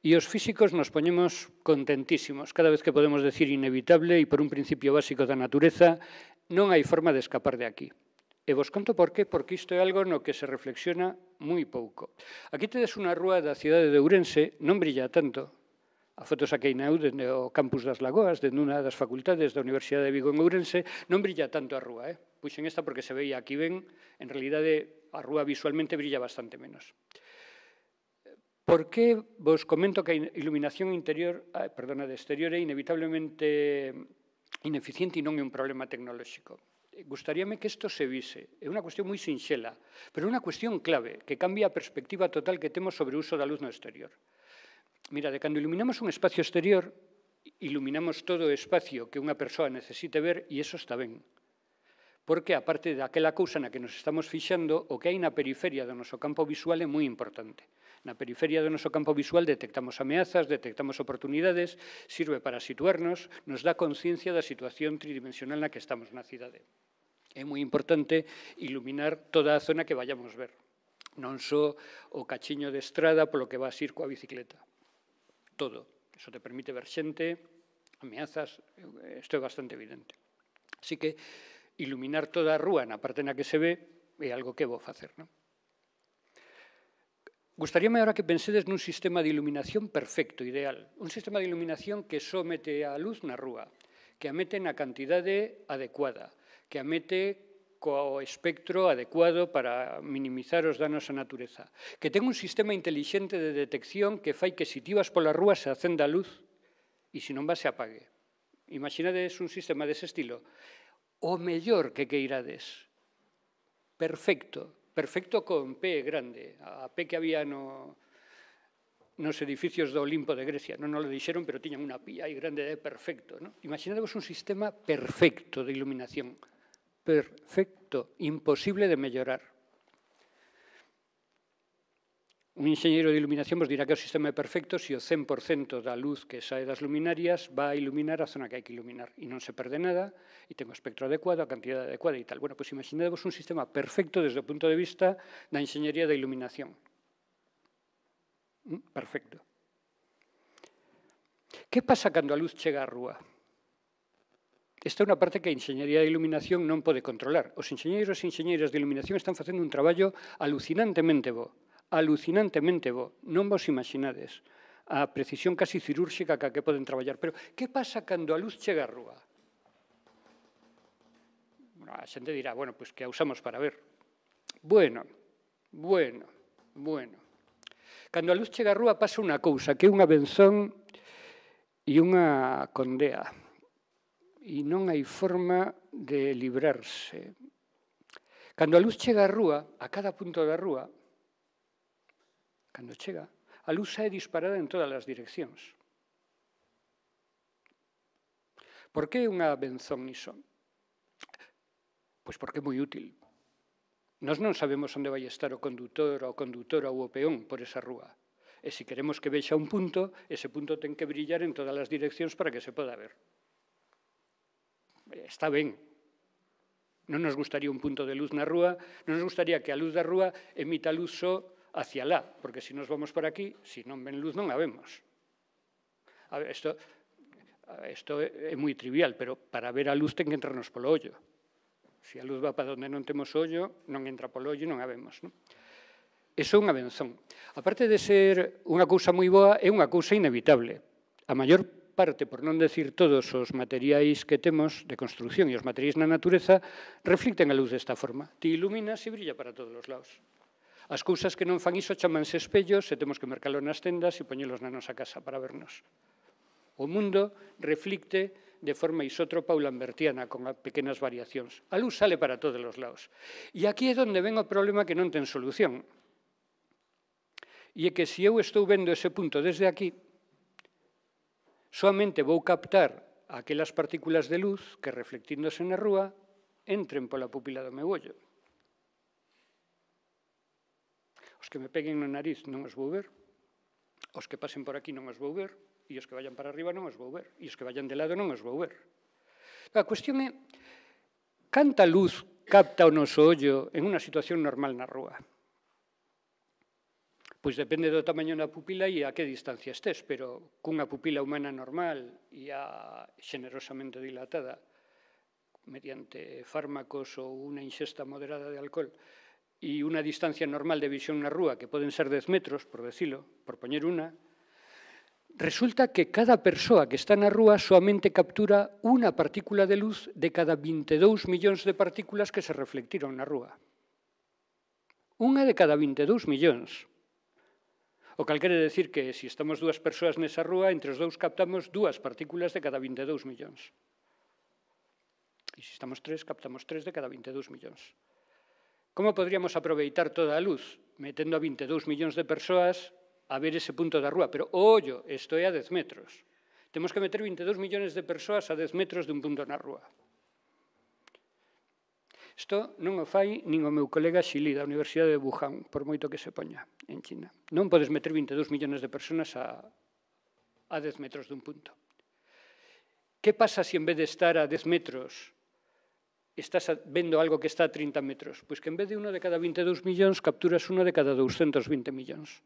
E os físicos nos poñemos contentísimos cada vez que podemos decir inevitable e por un principio básico da natureza non hai forma de escapar de aquí. E vos conto por qué, porque isto é algo no que se reflexiona moi pouco. Aquí tedes unha rúa da cidade de Ourense, non brilla tanto. A foto saquei na eu dende o campus das Lagoas, dende unha das facultades da Universidade de Vigo en Ourense, non brilla tanto a rúa, eh? Puxen esta porque se veía aquí ben, en realidade a rúa visualmente brilla bastante menos. Por que vos comento que a iluminación interior, ah, perdona, de exterior é inevitablemente ineficiente e non é un problema tecnolóxico? Gustaríame que isto se vise. É unha cuestión moi sinxela, pero é unha cuestión clave que cambia a perspectiva total que temos sobre o uso da luz no exterior. Mira, de cando iluminamos un espacio exterior, iluminamos todo o espacio que unha persoa necesite ver e iso está ben. Porque, aparte daquela cousa na que nos estamos fixando, o que hai na periferia do noso campo visual é moi importante. Na periferia do noso campo visual detectamos ameazas, detectamos oportunidades, sirve para situarnos, nos dá conciencia da situación tridimensional na que estamos na cidade. É moi importante iluminar toda a zona que vayamos ver, non só o cachiño de estrada polo que vas ir coa bicicleta. Todo. Iso te permite ver xente, ameazas, isto é bastante evidente. Así que iluminar toda a rúa na parte na que se ve é algo que vou facer, non? Gustaríame agora que pensedes nun sistema de iluminación perfecto, ideal. Un sistema de iluminación que só mete a luz na rúa, que a mete na cantidade adecuada, que a mete co espectro adecuado para minimizar os danos á natureza, que ten un sistema intelixente de detección que fai que se ti vas pola rúa se acenda a luz e se non vas se apague. Imaginades un sistema dese estilo. O mellor que queirades. Perfecto. Perfecto con P grande. A P que había no, nos edificios do Olimpo de Grecia. Non nos lo dixeron, pero tiñan unha pía aí grande de perfecto. ¿no? Imaginadevos un sistema perfecto de iluminación. Perfecto. Imposible de mellorar. Un enxeñeiro de iluminación vos dirá que o sistema é perfecto se o cen por cento da luz que sae das luminarias va a iluminar a zona que hai que iluminar e non se perde nada e ten o espectro adecuado, a cantidade adecuada e tal. Bueno, pois imaginadevos un sistema perfecto desde o punto de vista da enxeñería da iluminación. Perfecto. Que pasa cando a luz chega á rúa? Esta é unha parte que a enxeñería de iluminación non pode controlar. Os enxeñeiros e enxeñeiras de iluminación están facendo un traballo alucinantemente bo. alucinantemente bo, non vos imaginades a precisión casi cirúrxica ca que poden traballar. Pero que pasa cando a luz chega á rúa? A xente dirá, bueno, pois que a usamos para ver. Bueno, bueno, bueno. Cando a luz chega á rúa pasa unha cousa, que é unha benzón e unha condea. E non hai forma de librarse. Cando a luz chega á rúa, a cada punto da rúa, cando chega, a luz é disparada en todas as direccións. Por que unha benzón iso? Pois porque é moi útil. Nós non sabemos onde vai estar o condutor ou condutora ou o peón por esa rúa. E se queremos que vexa un punto, ese punto ten que brillar en todas as direccións para que se poda ver. Está ben. Non nos gustaría un punto de luz na rúa, non nos gustaría que a luz da rúa emita luz só hacia lá, porque se nos vamos por aquí, se non ven luz non a vemos. A ver, isto, isto é moi trivial, pero para ver a luz ten que entrarnos polo ollo. Se a luz va para onde non temos ollo, non entra polo ollo e non a vemos. Non? Iso é unha benzón. A parte de ser unha cousa moi boa, é unha cousa inevitable. A maior parte, por non decir todos os materiais que temos de construcción e os materiais na natureza, reflicten a luz desta forma. Ti iluminas e brilla para todos os lados. As cousas que non fan iso chamanse espellos e temos que mercalo nas tendas e poñelos na nosa casa para vernos. O mundo reflicte de forma isótropa ou lambertiana, con pequenas variacións. A luz sale para todos os lados. E aquí é onde ven o problema que non ten solución. E é que se eu estou vendo ese punto desde aquí, soamente vou captar aquelas partículas de luz que, reflectíndose na rúa, entren pola pupila do meu ollo. Os que me peguen no nariz non os vou ver, Os que pasen por aquí non os vou ver, e os que vayan para arriba non os vou ver, e os que vayan de lado non os vou ver. A cuestión é, canta luz capta o noso ollo en unha situación normal na rúa? Pois depende do tamaño da pupila e a que distancia estés, pero cunha pupila humana normal e a xenerosamente dilatada mediante fármacos ou unha ingesta moderada de alcohol e unha distancia normal de visión na rúa, que poden ser dez metros, por decilo, por poñer unha, resulta que cada persoa que está na rúa soamente captura unha partícula de luz de cada vinte e dous millóns de partículas que se reflectiron na rúa. Unha de cada vinte e dous millóns. O cal quere decir que, se estamos dúas persoas nesa rúa, entre os dous captamos dúas partículas de cada vinte e dous millóns. E se estamos tres, captamos tres de cada vinte e dous millóns. Como podríamos aproveitar toda a luz? Metendo a vinte e dous millóns de persoas a ver ese punto da rúa. Pero, ollo, isto é a dez metros. Temos que meter vinte e dous millóns de persoas a dez metros de un punto na rúa. Isto non o fai nin o meu colega Xili da Universidade de Wuhan, por moito que se poña en China. Non podes meter vinte e dous millóns de persoas a, a dez metros dun punto. Que pasa se en vez de estar a dez metros estás vendo algo que está a trinta metros? Pois que en vez de uno de cada vinte e dous millóns capturas uno de cada doscientos vinte millóns.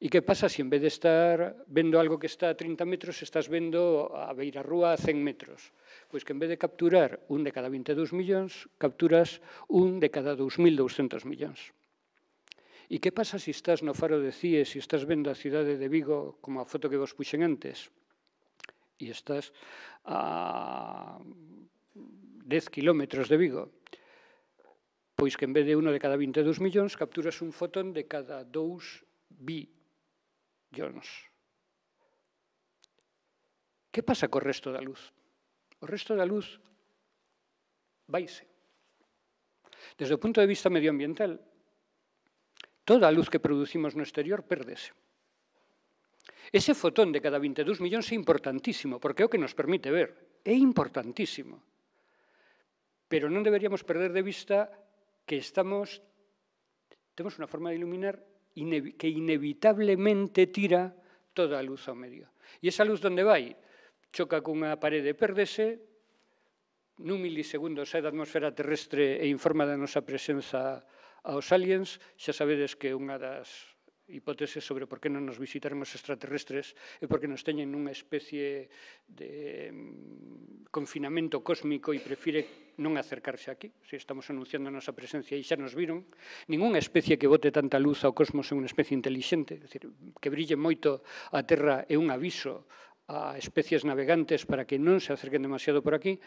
E que pasa se en vez de estar vendo algo que está a trinta metros estás vendo a beirarrúa a cen metros? Pois que en vez de capturar un de cada vinte e dous millóns, capturas un de cada dous mil douscentos millóns. E que pasa se estás no faro de Cie, se estás vendo a cidade de Vigo, como a foto que vos puxen antes, e estás a dez kilómetros de Vigo, pois que en vez de uno de cada vinte e dous millóns, capturas un fotón de cada dous billóns. Que pasa co resto da luz? O resto da luz vaise. Desde o punto de vista medioambiental, toda a luz que producimos no exterior pérdese. Ese fotón de cada vinte e dous millóns é importantísimo, porque é o que nos permite ver. É importantísimo. Pero non deberíamos perder de vista que estamos, temos unha forma de iluminar que inevitablemente tira toda a luz ao medio. E esa luz onde vai? Choca cunha parede e pérdese, nun milisegundo sae da atmosfera terrestre e informa da nosa presenza aos aliens. Xa sabedes que unha das hipóteses sobre por que non nos visitaron os extraterrestres é porque nos teñen nunha especie de confinamento cósmico e prefire non acercarse aquí. Se estamos anunciando a nosa presencia e xa nos viron. Ninguna especie que bote tanta luz ao cosmos é unha especie inteligente. É dicir, que brille moito a Terra é un aviso a especies navegantes para que non se acerquen demasiado por aquí,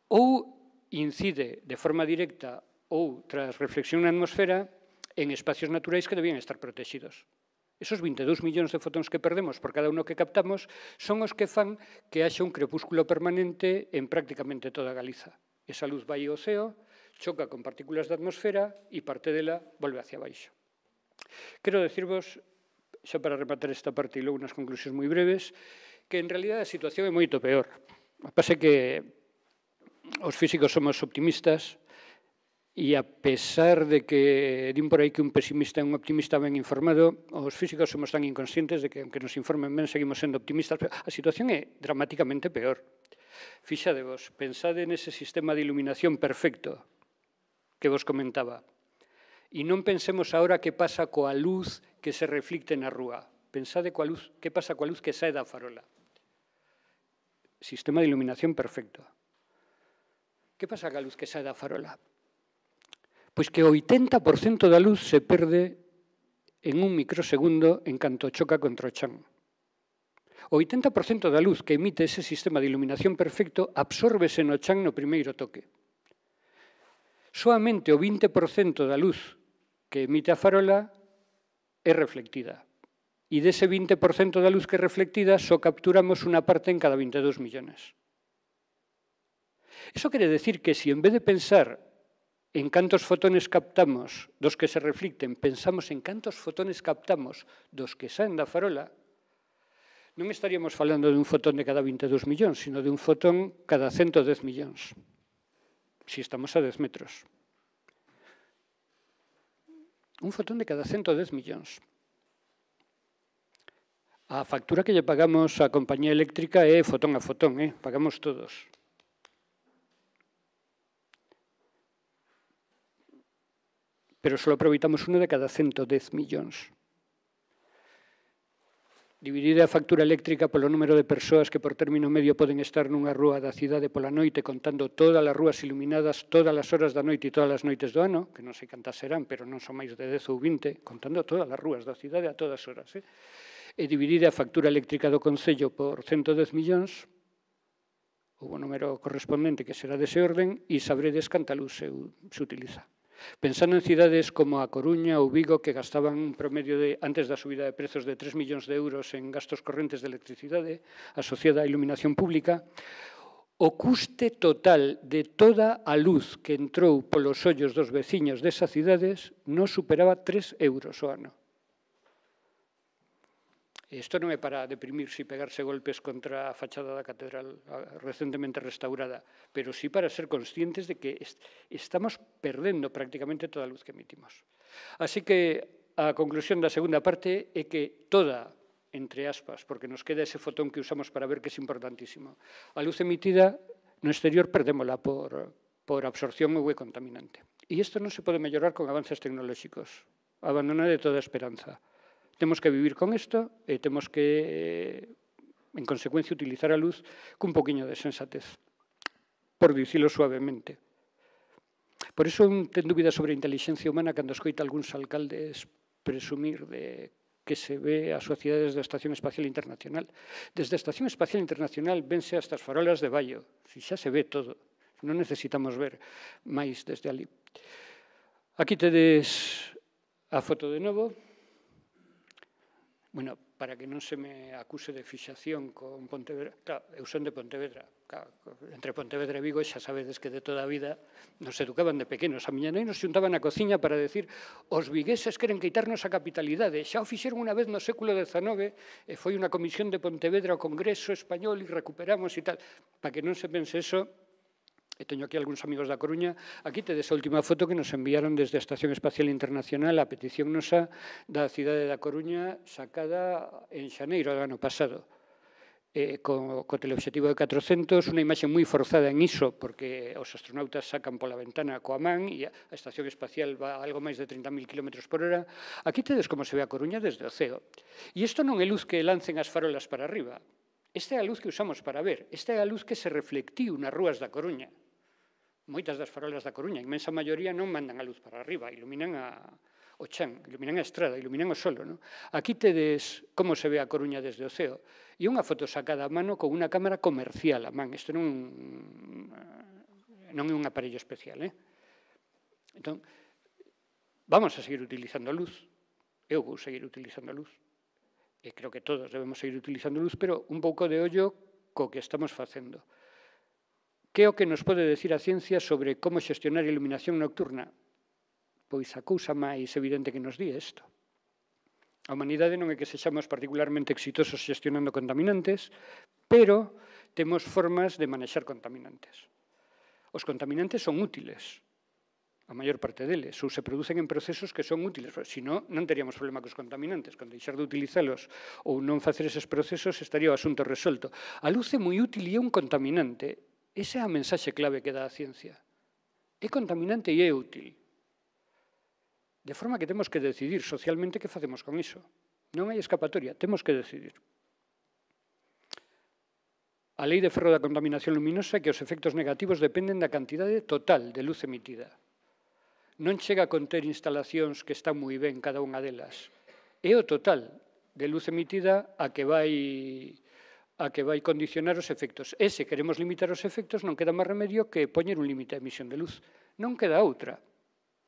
ou incide de forma directa ou tras reflexión na atmosfera en espacios naturais que debían estar protegidos. Esos vinte e dous millóns de fotóns que perdemos por cada uno que captamos son os que fan que haxa un crepúsculo permanente en prácticamente toda Galiza. Esa luz vai ao ceo, choca con partículas da atmosfera e parte dela volve hacia baixo. Quero decirvos, xa para rematar esta parte e logo unhas conclusións moi breves, que en realidad a situación é moito peor. Pasa que os físicos somos optimistas e a pesar de que din por aí que un pesimista é un optimista ben informado, os físicos somos tan inconscientes de que, aunque nos informen ben, seguimos sendo optimistas. Pero a situación é dramáticamente peor. Fixadevos, pensade nese sistema de iluminación perfecto que vos comentaba. E non pensemos agora que pasa coa luz que se reflicte na rúa. Pensade coa luz, que pasa coa luz que sae da farola. Sistema de iluminación perfecto. Que pasa coa luz que sae da farola? Pois que o oitenta por cento da luz se perde en un microsegundo en canto choca contra o chan. O oitenta por cento da luz que emite ese sistema de iluminación perfecto absórbese no chan no primeiro toque. Soamente o vinte por cento da luz que emite a farola é reflectida. E dese vinte por cento da luz que é reflectida só capturamos unha parte en cada vinte e dous millónes. Iso quere decir que se en vez de pensar en cantos fotones captamos dos que se reflicten, pensamos en cantos fotones captamos dos que saen da farola, non estaríamos falando de un fotón de cada vinte e dous millóns, sino de un fotón cada ciento dez millóns, se estamos a dez metros. Un fotón de cada ciento dez millóns. A factura que lle pagamos á compañía eléctrica é fotón a fotón, eh? Pagamos todos. Pero só aproveitamos uno de cada ciento dez millóns. Dividida a factura eléctrica polo número de persoas que por término medio poden estar nunha rúa da cidade pola noite contando todas as rúas iluminadas todas as horas da noite e todas as noites do ano, que non sei cantas serán, pero non son máis de dez ou vinte, contando todas as rúas da cidade a todas horas. Eh? E dividida a factura eléctrica do Concello por ciento dez millóns, o número correspondente que será dese orden, e sabredes canta luz se, se utiliza. Pensando en cidades como a Coruña ou Vigo, que gastaban un promedio de, antes da subida de prezos de tres millóns de euros en gastos correntes de electricidade asociada á iluminación pública, o custe total de toda a luz que entrou polos ollos dos veciños desas cidades non superaba tres euros ao ano. Isto non é para deprimirse e pegarse golpes contra a fachada da catedral recentemente restaurada, pero sí para ser conscientes de que estamos perdendo prácticamente toda a luz que emitimos. Así que a conclusión da segunda parte é que toda, entre aspas, porque nos queda ese fotón que usamos para ver que é importantísimo, a luz emitida no exterior perdémola por, por absorción ou é contaminante. E isto non se pode mellorar con avances tecnolóxicos. Abandonar de toda esperanza. Temos que vivir con isto e temos que, en consecuencia, utilizar a luz cun poquinho de sensatez, por dicilo suavemente. Por iso ten dúbidas sobre a inteligencia humana cando escoita algúns alcaldes presumir de que se ve a súa cidade desde a Estación Espacial Internacional. Desde a Estación Espacial Internacional vense hasta as farolas de Baio, si xa se ve todo, non necesitamos ver máis desde ali. Aquí tedes a foto de novo. Bueno, para que non se me acuse de fixación con Pontevedra, claro, eu son de Pontevedra, claro, entre Pontevedra e Vigo xa sabedes que de toda a vida nos educaban de pequenos. A miña nai nos xuntaban na cociña para decir os vigueses queren quitarnos a capitalidade, xa o fixeron unha vez no século dezanove e foi unha comisión de Pontevedra ao Congreso Español e recuperamos e tal. Para que non se pense eso, e teño aquí algúns amigos da Coruña, aquí tedes a última foto que nos enviaron desde a Estación Espacial Internacional a petición nosa da cidade da Coruña sacada en xaneiro do ano pasado. Eh, co, co teleobxectivo de catrocentos, unha imaxe moi forzada en iso, porque os astronautas sacan pola ventana coa man e a Estación Espacial va a algo máis de trinta mil kilómetros por hora. Aquí tedes como se ve a Coruña desde o ceo. E isto non é luz que lancen as farolas para arriba. Esta é a luz que usamos para ver. Esta é a luz que se reflectiu nas rúas da Coruña. Moitas das farolas da Coruña, a inmensa maioría non mandan a luz para arriba, iluminan a, o chan, iluminan a estrada, iluminan o solo. No? Aquí tedes como se ve a Coruña desde o ceo. E unha foto sacada a mano con unha cámara comercial a man. Isto non, non é un aparello especial. Eh? Entón, vamos a seguir utilizando a luz. Eu vou seguir utilizando a luz. E creo que todos debemos seguir utilizando a luz, pero un pouco de ollo co que estamos facendo. Que é o que nos pode decir a ciencia sobre como xestionar a iluminación nocturna? Pois a cousa máis evidente que nos di é isto. A humanidade non é que sexamos particularmente exitosos xestionando contaminantes, pero temos formas de manexar contaminantes. Os contaminantes son útiles, a maior parte deles, ou se producen en procesos que son útiles. Se non, non teríamos problema cos contaminantes. Con deixar de utilizalos ou non facer eses procesos estaría o asunto resolto. A luz é moi útil e é un contaminante. Esa é a mensaxe clave que dá a ciencia. É contaminante e é útil. De forma que temos que decidir socialmente que facemos con iso. Non hai escapatoria, temos que decidir. A lei de ferro da contaminación luminosa é que os efectos negativos dependen da cantidade total de luz emitida. Non chega a conter instalacións que están moi ben cada unha delas. É o total de luz emitida a que vai... a que vai condicionar os efectos. E se queremos limitar os efectos, non queda máis remedio que poñer un límite de emisión de luz. Non queda outra.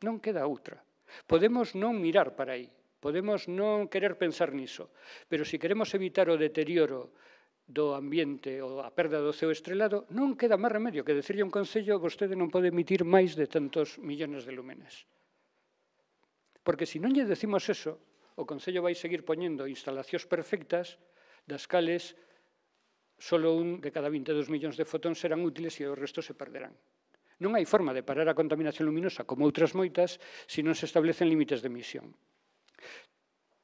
Non queda outra. Podemos non mirar para aí. Podemos non querer pensar niso. Pero se queremos evitar o deterioro do ambiente ou a perda do ceo estrelado, non queda máis remedio que decirlle a un concello vostede non pode emitir máis de tantos millones de lúmenes. Porque se non lle decimos eso, o concello vai seguir poñendo instalacións perfectas das cales solo un de cada vinte e dous millóns de fotóns serán útiles e o resto se perderán. Non hai forma de parar a contaminación luminosa, como outras moitas, se non se establecen límites de emisión.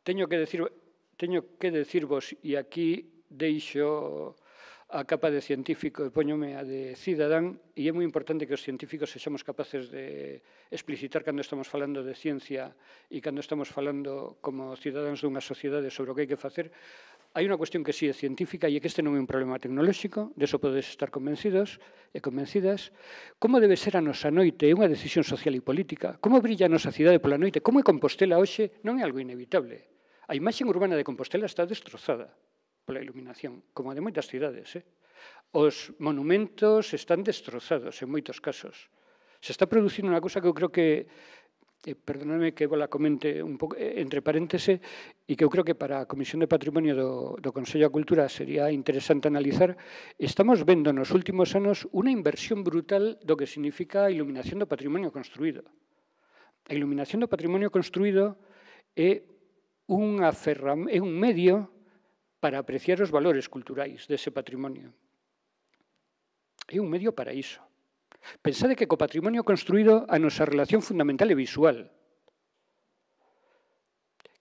Teño que decir teño que decirvos, e aquí deixo a capa de científico e poñome a de cidadán, e é moi importante que os científicos sexamos capaces de explicitar cando estamos falando de ciencia e cando estamos falando como cidadáns dunha sociedade sobre o que hai que facer. Hai unha cuestión que sí é científica e é que este non é un problema tecnolóxico, de eso podes estar convencidos e convencidas. Como debe ser a nosa noite é unha decisión social e política. Como brilla a nosa cidade pola noite? Como é Compostela hoxe? Non é algo inevitable. A imaxe urbana de Compostela está destrozada pola iluminación, como a de moitas cidades. Eh? Os monumentos están destrozados en moitos casos. Se está producindo unha cousa que eu creo que, eh, perdóname que vos la comente un pouco eh, entre paréntese, e que eu creo que para a Comisión de Patrimonio do, do Consello da Cultura sería interesante analizar. Estamos vendo nos últimos anos unha inversión brutal do que significa a iluminación do patrimonio construído. A iluminación do patrimonio construído é, unha ferram é un medio para apreciar os valores culturais dese patrimonio. É un medio para iso. Pensade que co patrimonio construído a nosa relación fundamental é visual.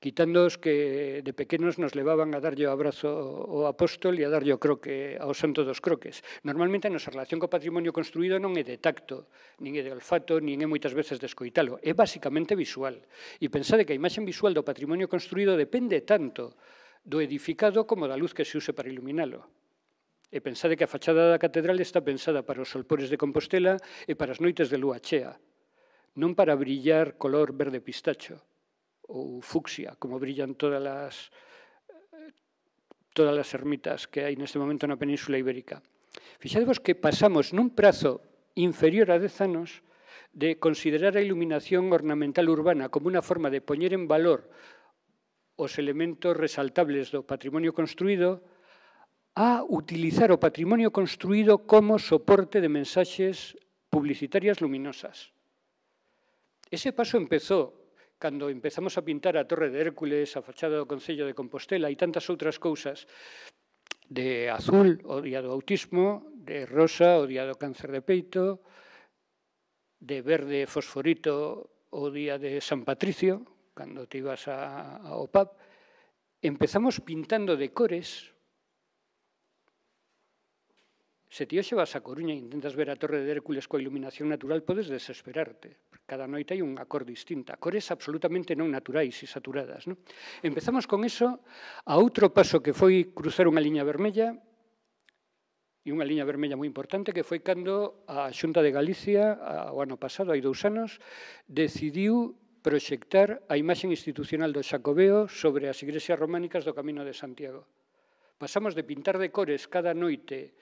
Quitando os que de pequenos nos levaban a darlle o abrazo ao apóstol e a darlle o croque ao santo dos croques. Normalmente a nosa relación co patrimonio construído non é de tacto, nin é de olfato, nin é moitas veces de escoitalo. É basicamente visual. E pensade que a imaxe visual do patrimonio construído depende tanto do edificado como da luz que se use para iluminalo. E pensade que a fachada da catedral está pensada para os solpores de Compostela e para as noites de lúa chea, non para brillar color verde pistacho ou fucsia, como brillan todas as, todas as ermitas que hai neste momento na Península Ibérica. Fixadevos que pasamos nun prazo inferior a dez anos de considerar a iluminación ornamental urbana como unha forma de poñer en valor os elementos resaltables do patrimonio construído a utilizar o patrimonio construído como soporte de mensaxes publicitarias luminosas. Ese paso empezou cando empezamos a pintar a Torre de Hércules, a fachada do Concello de Compostela e tantas outras cousas de azul, o día do autismo, de rosa, o día do cáncer de peito, de verde fosforito, o día de San Patricio, cando te ibas a, ao pub, empezamos pintando de cores. Se ti hoxe vas a Coruña e intentas ver a Torre de Hércules coa iluminación natural, podes desesperarte. Cada noite hai unha cor distinta, cores absolutamente non naturais e saturadas. Non? Empezamos con eso a outro paso que foi cruzar unha liña vermella, e unha liña vermella moi importante, que foi cando a Xunta de Galicia, o ano pasado, hai dous anos, decidiu proxectar a imaxe institucional do Xacobeo sobre as igrexas románicas do Camino de Santiago. Pasamos de pintar de cores cada noite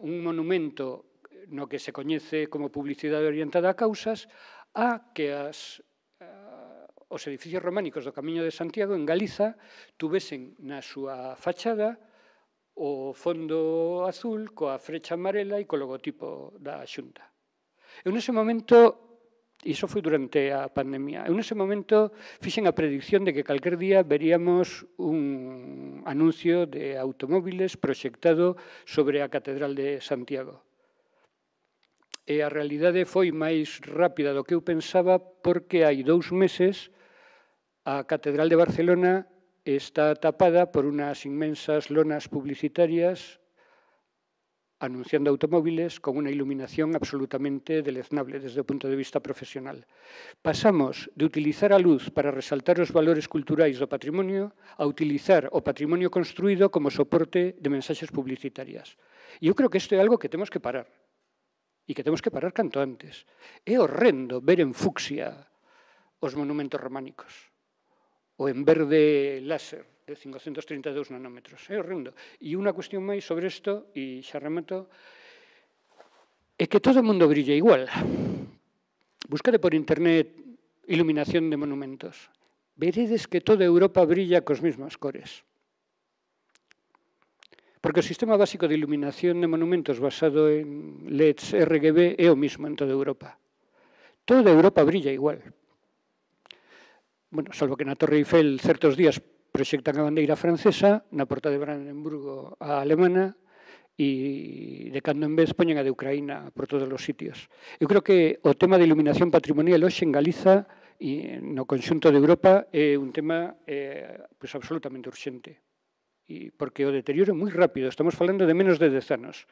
un monumento no que se coñece como publicidade orientada a causas, a que as, uh, os edificios románicos do Camiño de Santiago en Galiza tuvesen na súa fachada o fondo azul coa frecha amarela e co logotipo da Xunta. Eu nese momento, iso foi durante a pandemia, eu nese momento fixen a predicción de que calquer día veríamos un anuncio de automóviles proxectado sobre a Catedral de Santiago. E a realidade foi máis rápida do que eu pensaba, porque hai dous meses a Catedral de Barcelona está tapada por unas inmensas lonas publicitarias anunciando automóviles con unha iluminación absolutamente deleznable desde o punto de vista profesional. Pasamos de utilizar a luz para resaltar os valores culturais do patrimonio a utilizar o patrimonio construído como soporte de mensaxes publicitarias. E eu creo que isto é algo que temos que parar. E que temos que parar canto antes. É horrendo ver en fucsia os monumentos románicos, ou en verde láser de cincocentos trinta e dous nanómetros. É horrendo. E unha cuestión máis sobre isto, e xa remato, é que todo o mundo brilla igual. Buscade por internet iluminación de monumentos. Veredes que toda Europa brilla cos mesmas cores. Porque o sistema básico de iluminación de monumentos basado en L E Ds R G B é o mismo en toda Europa. Toda Europa brilla igual. Bueno, salvo que na Torre Eiffel certos días proxectan a bandeira francesa, na porta de Brandenburgo a alemana, e de cando en vez poñen a de Ucraína por todos os sitios. Eu creo que o tema de iluminación patrimonial hoxe en Galiza e no conxunto de Europa é un tema eh, pues, absolutamente urxente. E porque o deterioro é moi rápido, estamos falando de menos de dez anos.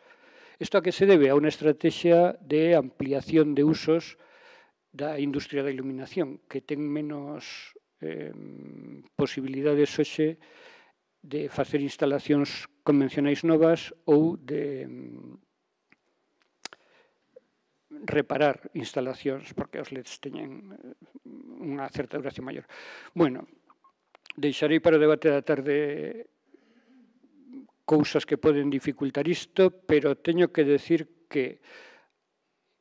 Isto a que se debe? A unha estrategia de ampliación de usos da industria da iluminación, que ten menos eh, posibilidades hoxe de facer instalacións convencionais novas ou de reparar instalacións, porque os L E Ds teñen unha certa duración maior. Bueno, deixarei para o debate da tarde cousas que poden dificultar isto, pero teño que decir que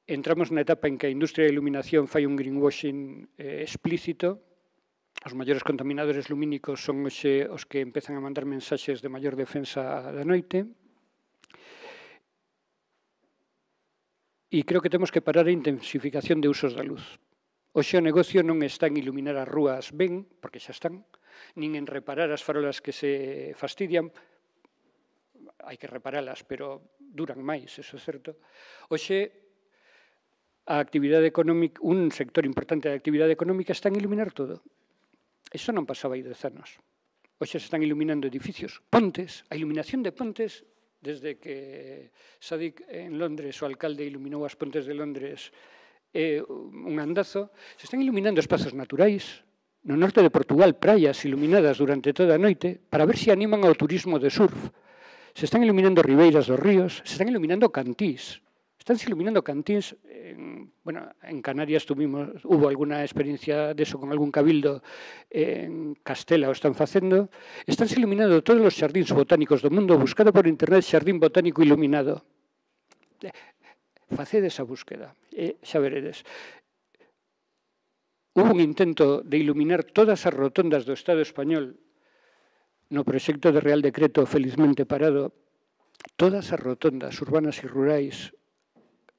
entramos na etapa en que a industria da iluminación fai un greenwashing eh, explícito. Os maiores contaminadores lumínicos son hoxe os que empezan a mandar mensaxes de maior defensa da noite. E creo que temos que parar a intensificación de usos da luz. Hoxe o negocio non está en iluminar as rúas ben, porque xa están, nin en reparar as farolas que se fastidian. Hai que reparalas, pero duran máis, eso é certo. Hoxe, a actividade económica, un sector importante da actividade económica está en iluminar todo. Iso non pasaba aí dez anos. Hoxe se están iluminando edificios, pontes, a iluminación de pontes. Desde que Sadiq en Londres, o alcalde, iluminou as pontes de Londres, é un andazo. Se están iluminando espazos naturais, no norte de Portugal, praias iluminadas durante toda a noite, para ver se animan ao turismo de surf. Se están iluminando ribeiras dos ríos, se están iluminando cantís. Están iluminando cantís. En, bueno, en Canarias tuvimos, hubo alguna experiencia de eso con algún cabildo. En Castela o están facendo. Están iluminando todos os xardíns botánicos do mundo. Buscado por internet xardín botánico iluminado. Facede esa búsqueda. E xa veredes. Hubo un intento de iluminar todas as rotondas do Estado español no proxecto de Real Decreto felizmente parado. Todas as rotondas urbanas e rurais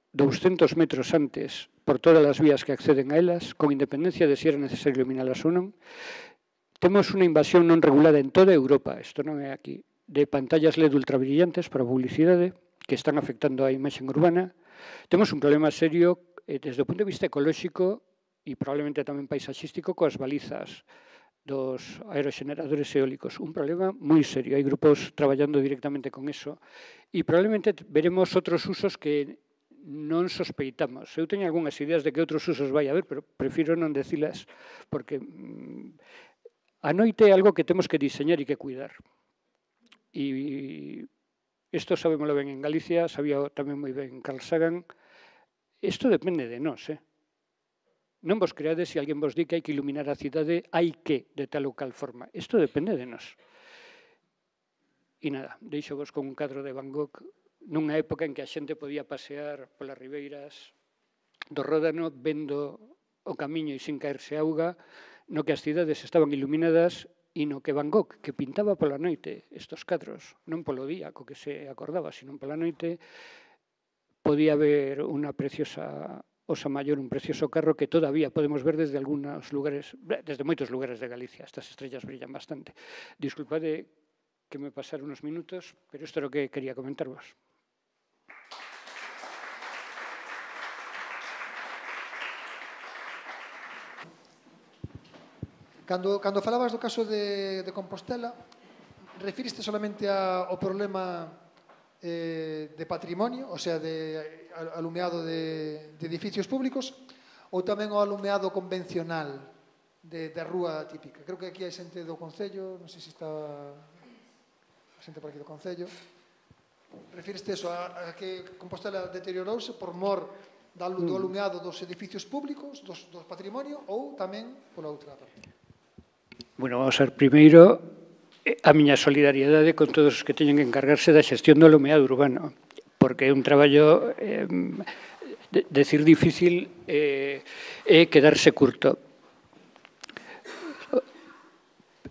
douscentos metros antes por todas as vías que acceden a elas, con independencia de se era necesario iluminalas ou non. Temos unha invasión non regulada en toda Europa, isto non é aquí, de pantallas L E D ultrabrillantes para publicidade que están afectando a imaxe urbana. Temos un problema serio eh, desde o punto de vista ecolóxico e probablemente tamén paisaxístico coas balizas dos aeroxeneradores eólicos. Un problema moi serio. Hai grupos traballando directamente con eso e probablemente veremos outros usos que non sospeitamos. Eu teño algunhas ideas de que outros usos vai haber, pero prefiro non decilas, porque a noite é algo que temos que diseñar e que cuidar. E isto sabémoslo ben en Galicia, sabía tamén moi ben Carl Sagan. Isto depende de nós, eh? Non vos creades se alguén vos di que hai que iluminar a cidade, hai que, de tal ou cal forma. Isto depende de nós. E nada, deixo vos con un cadro de Van Gogh nunha época en que a xente podía pasear polas ribeiras do Ródano vendo o camiño e sin caerse auga, no que as cidades estaban iluminadas e no que Van Gogh, que pintaba pola noite estos cadros, non polo día co que se acordaba, sino pola noite, podía haber unha preciosa Osa Maior, un precioso carro que todavía podemos ver desde algúns lugares, desde moitos lugares de Galicia. Estas estrellas brillan bastante. Disculpade que me pasaron unos minutos, pero isto é o que quería comentarvos. Cando, cando falabas do caso de, de Compostela, refiriste solamente a, ao problema eh, de patrimonio, o sea, de alumeado de, de edificios públicos, ou tamén ao alumeado convencional de, de rúa típica? Creo que aquí hai xente do Concello, non sei se está a xente por aquí do Concello. Refiriste eso, a, a que Compostela deteriorouse por mor do alumeado dos edificios públicos, dos, dos patrimonio, ou tamén pola outra parte? Bueno, vamos a ver, primeiro, a miña solidariedade con todos os que teñen que encargarse da xestión do alumeado urbano, porque é un traballo, eh, de, decir difícil, eh, é quedarse curto.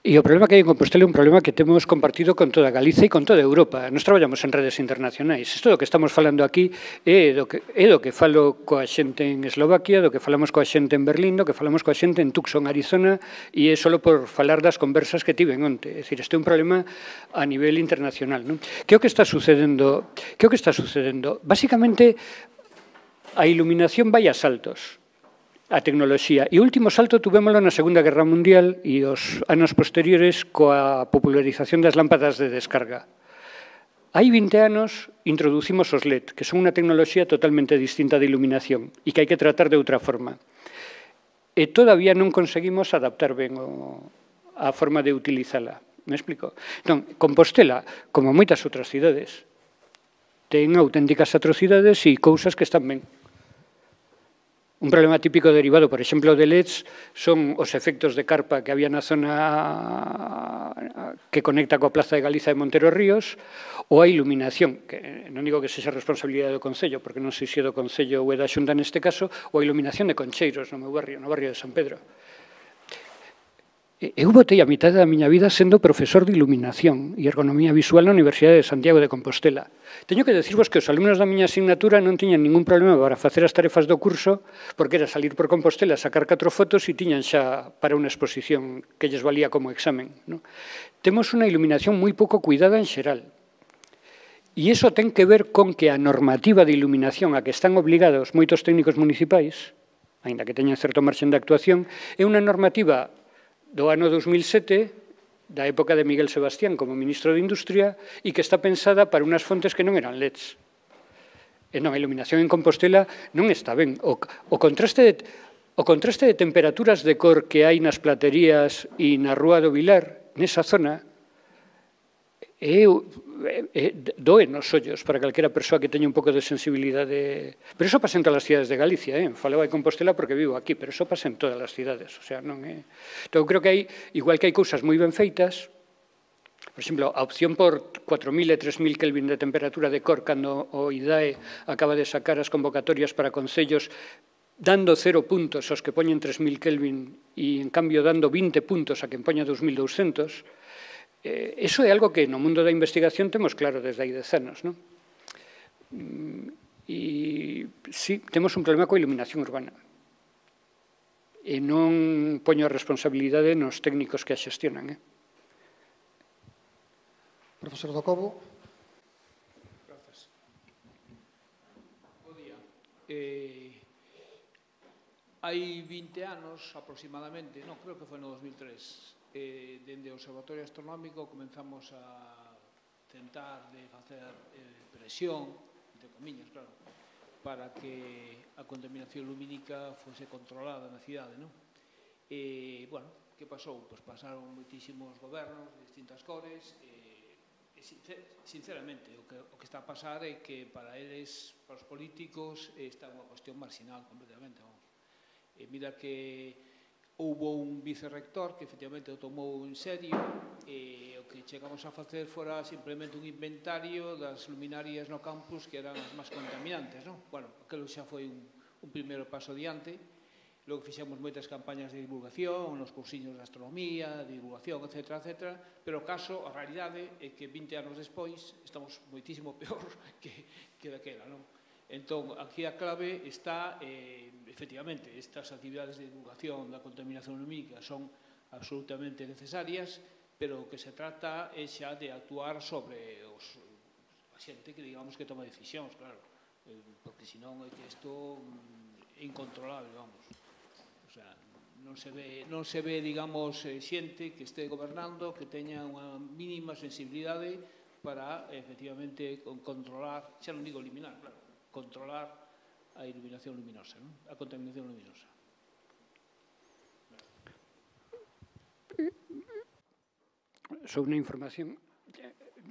E o problema que hai en Compostela é un problema que temos compartido con toda Galicia e con toda Europa. Nos traballamos en redes internacionais. Isto do que estamos falando aquí é do que, é do que falo coa xente en Eslovaquia, do que falamos coa xente en Berlín, do que falamos coa xente en Tucson, Arizona, e é só por falar das conversas que tiven onte. É dicir, este é un problema a nivel internacional, non? Que é o que está sucedendo? Que é o que está sucedendo? Básicamente, a iluminación vai a saltos. a tecnoloxía. E o último salto tuvémolo na Segunda Guerra Mundial e os anos posteriores coa popularización das lámpadas de descarga. Hai vinte anos introducimos os L E D, que son unha tecnoloxía totalmente distinta de iluminación e que hai que tratar de outra forma. E todavía non conseguimos adaptar ben o, a forma de utilizala. Me explico? Entón, Compostela, como moitas outras cidades, ten auténticas atrocidades e cousas que están ben. Un problema típico derivado, por exemplo, de L E Ds son os efectos de carpa que había na zona que conecta coa Plaza de Galiza de Montero Ríos, ou a iluminación, que non digo que sexa responsabilidade do Concello, porque non sei se é do Concello ou é da Xunta neste caso, ou a iluminación de Concheiros no meu barrio, no barrio de San Pedro. Eu botei a mitad da miña vida sendo profesor de iluminación e ergonomía visual na Universidade de Santiago de Compostela. Teño que decirvos que os alumnos da miña asignatura non tiñan ningún problema para facer as tarefas do curso, porque era salir por Compostela, sacar catro fotos e tiñan xa para unha exposición que lles valía como examen. No? Temos unha iluminación moi pouco cuidada en xeral. E iso ten que ver con que a normativa de iluminación a que están obligados moitos técnicos municipais, aínda que teñan certo marxen de actuación, é unha normativa do ano dos mil sete, da época de Miguel Sebastián como ministro de Industria, e que está pensada para unhas fontes que non eran L E Ds. E non, a iluminación en Compostela non está ben. O, o, contraste de, o contraste de temperaturas de cor que hai nas platerías e na Rúa do Vilar, nesa zona, é, é, doe nos ollos para calquera persoa que teña un pouco de sensibilidade. Pero iso pasa en todas as cidades de Galicia, eh? Faleo de Compostela porque vivo aquí, pero iso pasa en todas as cidades. O sea, non é... Entón, creo que hai, igual que hai cousas moi ben feitas, por exemplo, a opción por cuatro mil e tres mil Kelvin de temperatura de cor cando o I D A E acaba de sacar as convocatorias para concellos dando cero puntos aos que poñen tres mil Kelvin e, en cambio, dando vinte puntos a quen poña dos mil douscentos. Eh, eso é algo que no mundo da investigación temos claro desde hai dez anos, non? E, sí, temos un problema coa iluminación urbana. E non poño a responsabilidade nos técnicos que a xestionan, eh? Profesor Docobo. Grazas. Bo día. Eh, hai vinte anos aproximadamente, non, creo que foi no dos mil tres, eh, dende o Observatorio Astronómico comenzamos a tentar de facer eh, presión, entre comillas, claro, para que a contaminación lumínica fose controlada na cidade, non? E, bueno, que pasou? Pois pasaron moitísimos gobernos de distintas cores e, e sinceramente, o que, o que está a pasar é que para eles, para os políticos, está unha cuestión marginal completamente, vamos. E mira que houbo un vicerrector que efectivamente o tomou en serio e o que chegamos a facer fora simplemente un inventario das luminarias no campus que eran as máis contaminantes, non? Bueno, aquilo xa foi un, un primeiro paso adiante. Logo fixemos moitas campañas de divulgación, nos cursiños de astronomía, de divulgación, etcétera, etcétera, pero o caso, a realidade, é que vinte anos despois estamos moitísimo peor que, que daquela, non? Entón, aquí a clave está, eh, efectivamente, estas actividades de divulgación da contaminación lumínica son absolutamente necesarias, pero o que se trata é xa de actuar sobre os, a xente que, digamos, que toma decisións, claro, eh, porque senón é que isto é incontrolable, vamos. O sea, non se ve, non se ve, digamos, xente que este gobernando que teña unha mínima sensibilidade para, efectivamente, controlar, xa non digo eliminar, claro, controlar a iluminación luminosa, non? A contaminación luminosa. Sobre unha información,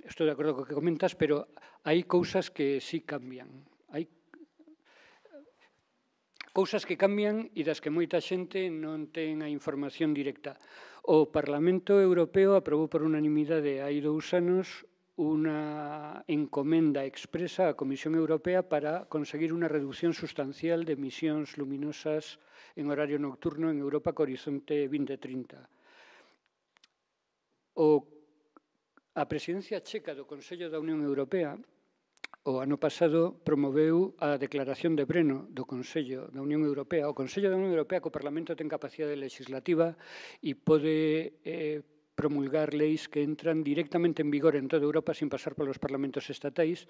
estou de acordo co que comentas, pero hai cousas que sí cambian. Hai cousas que cambian e das que moita xente non ten a información directa. O Parlamento Europeo aprobou por unanimidade hai dous anos unha encomenda expresa á Comisión Europea para conseguir unha reducción sustancial de emisións luminosas en horario nocturno en Europa co horizonte vinte trinta. O, a presidencia checa do Consello da Unión Europea o ano pasado promoveu a declaración de Breno do Consello da Unión Europea. O Consello da Unión Europea co Parlamento ten capacidade legislativa e pode eh, promulgar leis que entran directamente en vigor en toda Europa sin pasar polos parlamentos estatais.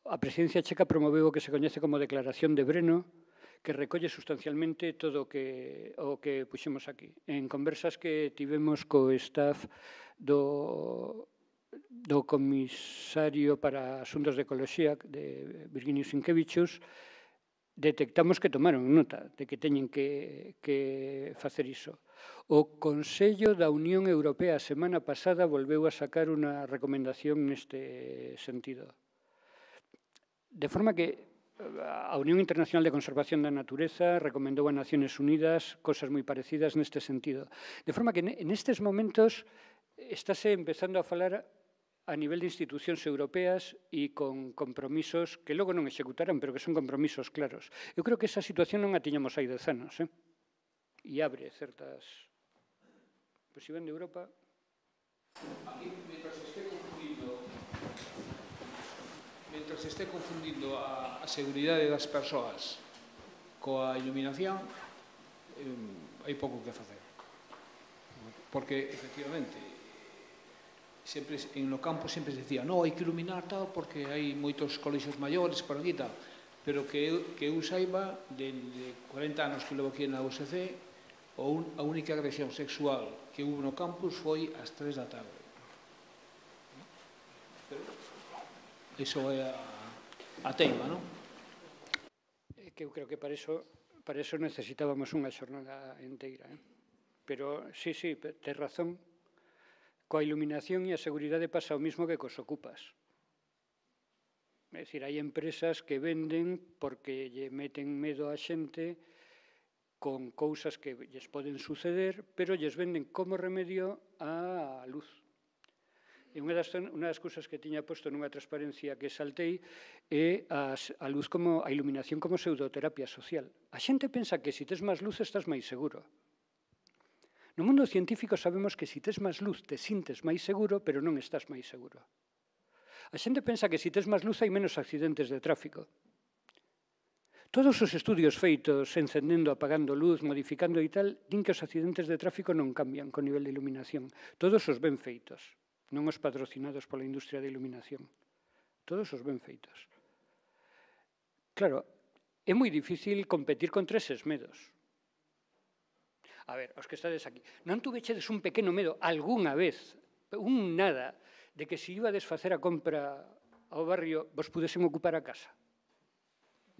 A presidencia checa promoveu o que se coñece como Declaración de Breno, que recolle sustancialmente todo o que, o que puxemos aquí. En conversas que tivemos co staff do, do Comisario para Asuntos de Ecoloxía, de Virginio Sinkevichus, detectamos que tomaron nota de que teñen que, que facer iso. O Consello da Unión Europea a semana pasada volveu a sacar unha recomendación neste sentido. De forma que a Unión Internacional de Conservación da Natureza recomendou a Naciones Unidas cosas moi parecidas neste sentido. De forma que nestes momentos estáse empezando a falar a nivel de institucións europeas e con compromisos que logo non executarán, pero que son compromisos claros. Eu creo que esa situación non a tiñamos hai dez anos, eh? E abre certas... Pois se ven de Europa... Aquí, mientras esté confundindo Mientras se esté confundindo a, a seguridade das persoas coa iluminación, eh, hai pouco que facer. Porque, efectivamente, sempre, en no campo sempre se decía no, hai que iluminar tal porque hai moitos colexios maiores por aquí tal, pero que eu, que eu saiba, de, de cuarenta anos que levo aquí na U S C, un, a única agresión sexual que hubo no campus foi ás tres da tarde. Pero, iso é a, a teima, non? É que eu creo que para iso, para iso necesitábamos unha xornada inteira. Eh? Pero, sí, sí, tes razón. Coa iluminación e a seguridade pasa o mismo que cos ocupas. É dicir, hai empresas que venden porque lle meten medo á xente con cousas que lles poden suceder, pero lles venden como remedio á luz. E unha das, unha das cousas que tiña posto nunha transparencia que saltei é as, a luz como a iluminación como pseudoterapia social. A xente pensa que se tes máis luz estás máis seguro. No mundo científico sabemos que se tes máis luz te sintes máis seguro, pero non estás máis seguro. A xente pensa que se tes máis luz hai menos accidentes de tráfico. Todos os estudios feitos encendendo, apagando luz, modificando e tal, din que os accidentes de tráfico non cambian con nivel de iluminación. Todos os ben feitos. Non os patrocinados pola industria de iluminación. Todos os ben feitos. Claro, é moi difícil competir contra eses medos. A ver, os que estades aquí, non tuvechedes un pequeno medo algunha vez, un nada, de que se iba a desfacer a compra ao barrio, vos pudesen ocupar a casa?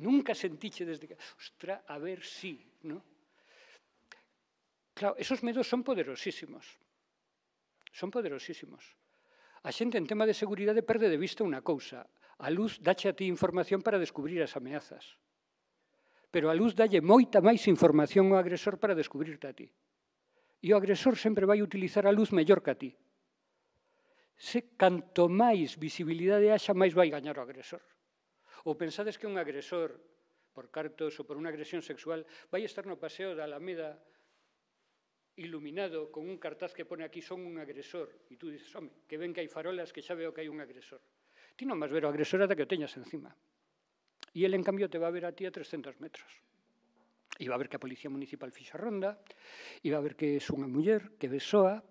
Nunca sentiche desde que... Ostra, a ver si, non? Claro, esos medos son poderosísimos. Son poderosísimos. A xente en tema de seguridade perde de vista unha cousa. A luz dache a ti información para descubrir as ameazas. Pero a luz dalle moita máis información ao agresor para descubrirte a ti. E o agresor sempre vai utilizar a luz mellor que a ti. Se canto máis visibilidade haxa, máis vai gañar o agresor. Ou pensades que un agresor, por cartos ou por unha agresión sexual, vai estar no paseo da Alameda iluminado con un cartaz que pone aquí son un agresor, e tú dices, home, que ven que hai farolas que xa veo que hai un agresor. Ti non vas ver o agresor ata que o teñas encima. E ele, en cambio, te va a ver a ti a trescentos metros. E va a ver que a Policía Municipal fixa ronda, e va a ver que é unha muller, que besoa,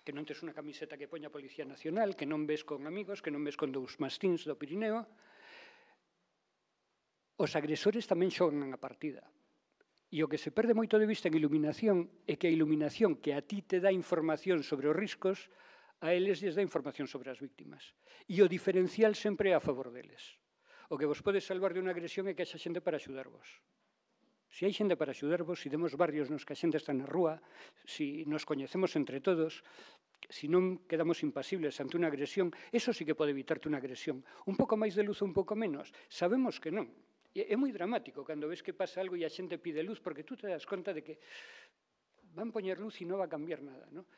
que non tes unha camiseta que poña a Policía Nacional, que non ves con amigos, que non ves con dous mastíns do Pirineo. Os agresores tamén xogan a partida. E o que se perde moito de vista en iluminación é que a iluminación que a ti te dá información sobre os riscos, a eles lles dá información sobre as víctimas. E o diferencial sempre é a favor deles. O que vos pode salvar de unha agresión é que haxa xente para axudarvos. Se hai xente para axudarvos, se temos barrios nos que a xente está na rúa, se nos coñecemos entre todos, se non quedamos impasibles ante unha agresión, eso sí que pode evitarte unha agresión. Un pouco máis de luz ou un pouco menos? Sabemos que non. É moi dramático cando ves que pasa algo e a xente pide luz, porque tú te das conta de que van poñer luz e non va a cambiar nada, non?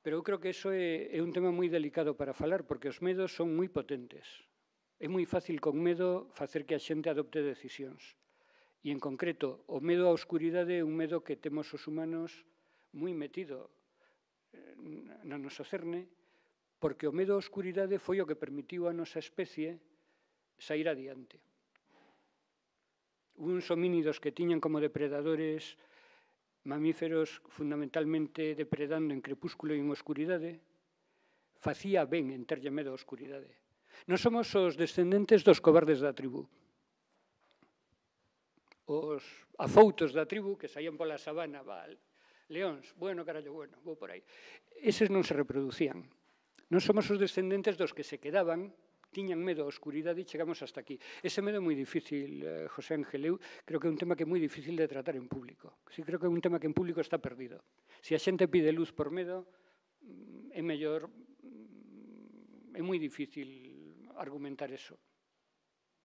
Pero eu creo que iso é, é un tema moi delicado para falar, porque os medos son moi potentes. É moi fácil con medo facer que a xente adopte decisións. E, en concreto, o medo á oscuridade é un medo que temos os humanos moi metido no noso cerne, porque o medo á oscuridade foi o que permitiu a nosa especie sair adiante. Uns homínidos que tiñan como depredadores mamíferos fundamentalmente depredando en crepúsculo e en oscuridade, facía ben en terlle medo á oscuridade. Non somos os descendentes dos cobardes da tribu. os afoutos da tribu que saían pola sabana, val, leóns, bueno, carallo, bueno, vou por aí. Eses non se reproducían. Non somos os descendentes dos que se quedaban, tiñan medo á oscuridade e chegamos hasta aquí. Ese medo é moi difícil, eh, José Ángel, eu creo que é un tema que é moi difícil de tratar en público. Sí, creo que é un tema que en público está perdido. Se a xente pide luz por medo, é mellor, é moi difícil argumentar eso.